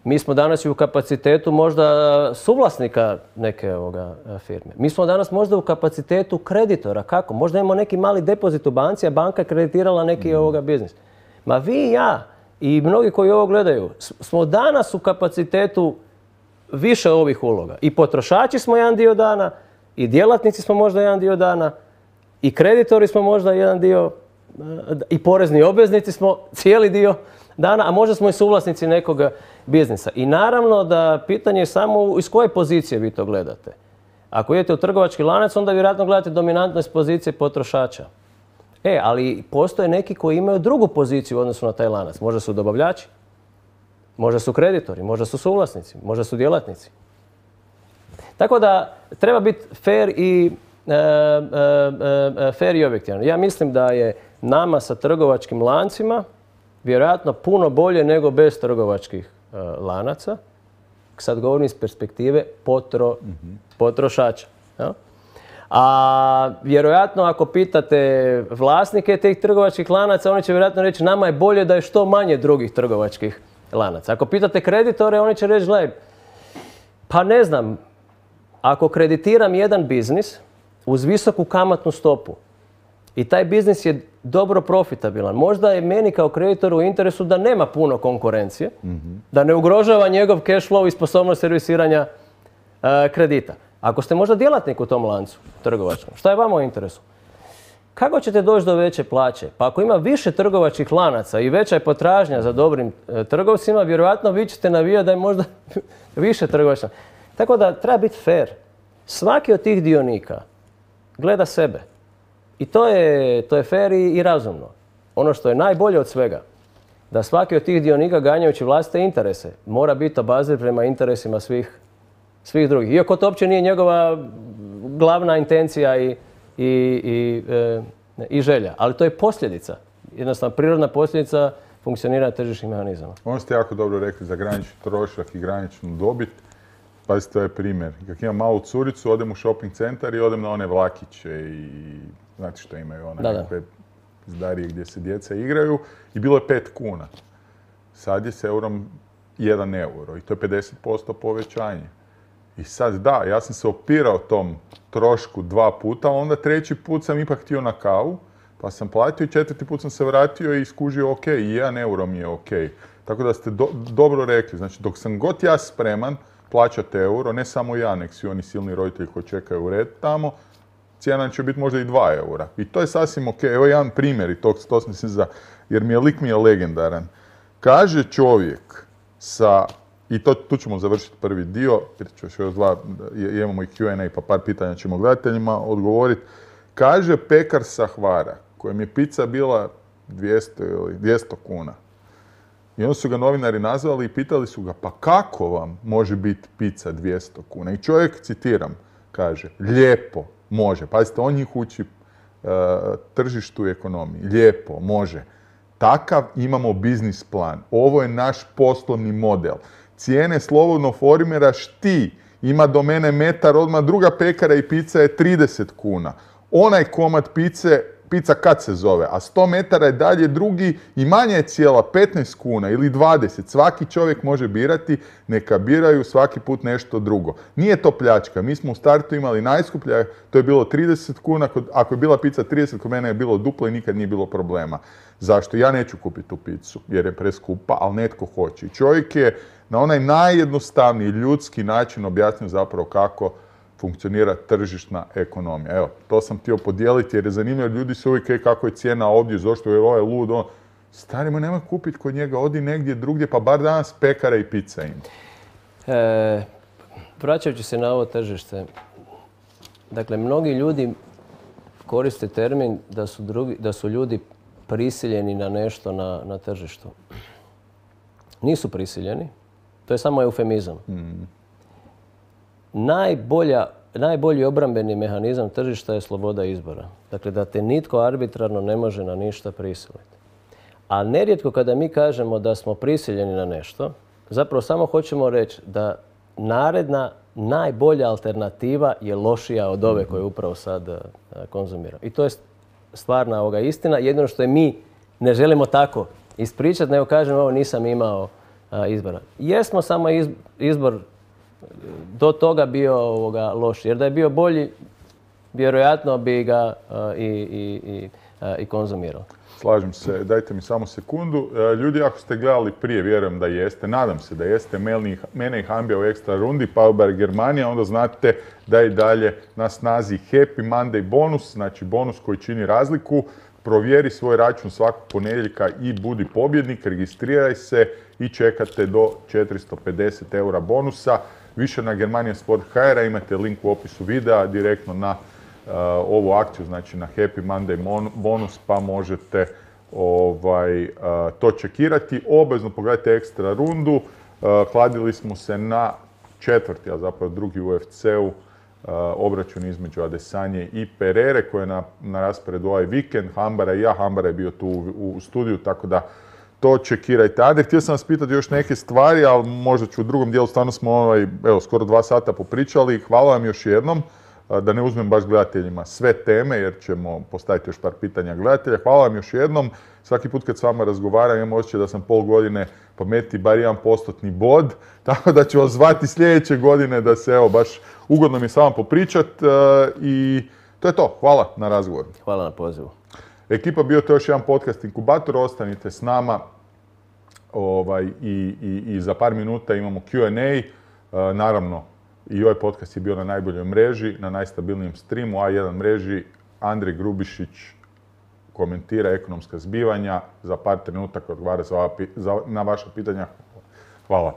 Mi smo danas i u kapacitetu možda suvlasnika neke ovoga firme. Mi smo danas možda u kapacitetu kreditora. Kako? Možda imamo neki mali depozit u banci, a banka je kreditirala neki mm. ovoga biznis. Ma vi i ja i mnogi koji ovo gledaju smo danas u kapacitetu više ovih uloga. I potrošači smo jedan dio dana, i djelatnici smo možda jedan dio dana, i kreditori smo možda jedan dio, i porezni obveznici smo cijeli dio dana, a možda smo i suvlasnici nekog biznisa. I naravno da pitanje je samo iz koje pozicije vi to gledate. Ako idete u trgovački lanac, onda vjerojatno gledate dominantno iz pozicije potrošača. E, ali postoje neki koji imaju drugu poziciju u odnosu na taj lanac. Možda su dobavljači, možda su kreditori, možda su suvlasnici, možda su djelatnici. Tako da treba biti fair i, e, e, e, fair i objektivan. Ja mislim da je nama sa trgovačkim lancima vjerojatno puno bolje nego bez trgovačkih e, lanaca. Sad govorim iz perspektive potro, mm-hmm. potrošača. Ja? A vjerojatno ako pitate vlasnike tih trgovačkih lanaca, oni će vjerojatno reći nama je bolje da je što manje drugih trgovačkih lanaca. Ako pitate kreditore, oni će reći gledaj, pa ne znam, ako kreditiram jedan biznis uz visoku kamatnu stopu i taj biznis je dobro profitabilan, možda je meni kao kreditoru u interesu da nema puno konkurencije, mm-hmm. da ne ugrožava njegov cash flow i sposobnost servisiranja uh, kredita. Ako ste možda djelatnik u tom lancu trgovačkom, šta je vama u interesu? Kako ćete doći do veće plaće? Pa ako ima više trgovačkih lanaca i veća je potražnja za dobrim e, trgovcima, vjerojatno vi ćete navijati da je možda više trgovačka. Tako da treba biti fair. Svaki od tih dionika gleda sebe. I to je, to je fair i, i razumno. Ono što je najbolje od svega, da svaki od tih dionika ganjajući vlastite interese mora biti obazriv prema interesima svih, svih drugih. Iako to uopće nije njegova glavna intencija i I, i, e, i želja. Ali to je posljedica. Jednostavno, prirodna posljedica funkcioniranja tržišnih mehanizama. Ono ste jako dobro rekli za granični trošak i graničnu dobit. Pazite, to je primjer. Kad imam malu curicu, odem u shopping centar i odem na one vlakiće i znate što imaju, one nekakve zdarije gdje se djeca igraju i bilo je pet kuna. Sad je s eurom jedan euro i to je pedeset posto povećanje. I sad da, ja sam se opirao tom trošku dva puta, a onda treći put sam ipak htio na kavu, pa sam platio i četvrti put sam se vratio i skužio ok, i jedan euro mi je ok. Tako da ste do, dobro rekli, znači dok sam god ja spreman plaćati euro, ne samo ja, nek svi oni silni roditelji koji čekaju u red tamo, cijena će biti možda i dva eura. I to je sasvim ok. Evo jedan primjer, i to, to mislim za, jer mi je lik mi je legendaran. Kaže čovjek sa... I to, tu ćemo završiti prvi dio, jer ću još dva, imamo i Q and A pa par pitanja ćemo gledateljima odgovoriti. Kaže pekar sa Hvara, kojem je pizza bila dvjesto ili dvjesto kuna. I onda su ga novinari nazvali i pitali su ga, pa kako vam može biti pizza dvjesto kuna? I čovjek, citiram, kaže, lijepo, može. Pazite, on njih uči uh, tržištu i ekonomiji. Lijepo, može. Takav imamo biznis plan. Ovo je naš poslovni model. Cijene slobodno formiraš ti. Ima do mene metar, odmah druga pekara i pizza je trideset kuna. Onaj komad pice, pizza kad se zove, a sto metara je dalje drugi i manja je cijela petnaest kuna ili dvadeset. Svaki čovjek može birati, neka biraju svaki put nešto drugo. Nije to pljačka. Mi smo u startu imali najskuplja, to je bilo trideset kuna. Ako je bila pizza trideset, kod mene je bilo duplo i nikad nije bilo problema. Zašto? Ja neću kupiti tu pizzu jer je preskupa, ali netko hoće. I čovjek je na onaj najjednostavniji ljudski način objasnio zapravo kako funkcionira tržišna ekonomija. Evo, to sam htio podijeliti jer je zanimljivo, ljudi se uvijek kako je cijena ovdje, zašto je ovaj lud, on... Starimo, nemoj kupiti kod njega, odi negdje drugdje, pa bar danas pekara i pizza ima. E, vraćajući se na ovo tržište, dakle, mnogi ljudi koriste termin da su, drugi, da su ljudi prisiljeni na nešto na, na tržištu. Nisu prisiljeni, to je samo eufemizam. Mm. Najbolja, najbolji obrambeni mehanizam tržišta je sloboda izbora. Dakle, da te nitko arbitrarno ne može na ništa prisiliti. A nerijetko kada mi kažemo da smo prisiljeni na nešto, zapravo samo hoćemo reći da naredna, najbolja alternativa je lošija od ove koju upravo sad konzumiramo. I to je stvarna ovoga istina. Jedino što je mi ne želimo tako ispričati, nego kažem ovo nisam imao a, izbora. Jesmo samo iz, izbor do toga bio ovoga loš, jer da je bio bolji, vjerojatno bi ga a, i, i, i, a, i konzumirao. Slažem se, dajte mi samo sekundu. E, ljudi, ako ste gledali prije, vjerujem da jeste, nadam se da jeste, mene i Hambija u ekstra rundi, Powerbar Germanija, onda znate da je dalje na snazi Happy Monday bonus, znači bonus koji čini razliku. Provjeri svoj račun svakog ponedjeljka i budi pobjednik, registriraj se i čekate do četiristo pedeset eura bonusa. Više na Germania Sport punto h r, imate link u opisu videa direktno na Uh, ovu akciju, znači na Happy Monday bonus, pa možete ovaj, uh, to čekirati. Obvezno pogledajte ekstra rundu. Uh, kladili smo se na četvrti, a zapravo drugi u U F C-u, uh, obračun između Adesanje i Perere, koji je na, na rasporedu ovaj vikend. Hambara i ja, Hambara je bio tu u, u studiju, tako da to čekirajte. Ade, htio sam vas pitati još neke stvari, ali možda ću u drugom dijelu, stvarno smo ovaj, evo, skoro dva sata popričali. Hvala vam još jednom. Da ne uzmem baš gledateljima sve teme, jer ćemo postaviti još par pitanja gledatelja. Hvala vam još jednom. Svaki put kad s vama razgovaram, imam osjećaj da sam pol godine pametniji, bar jedan postotni bod. Tako da ću vas zvati sljedeće godine da se, evo, baš ugodno mi s vama popričat. I to je to. Hvala na razgovoru. Hvala na pozivu. Ekipa, bio to još jedan podcast Inkubator. Ostanite s nama. Ovaj, i, i, I za par minuta imamo Q and A. Naravno, i ovaj podcast je bio na najboljoj mreži, na najstabilnijem streamu, A jedan mreži. Andrej Grubišić komentira ekonomska zbivanja. Za par trenutaka odgovara na vaša pitanja. Hvala.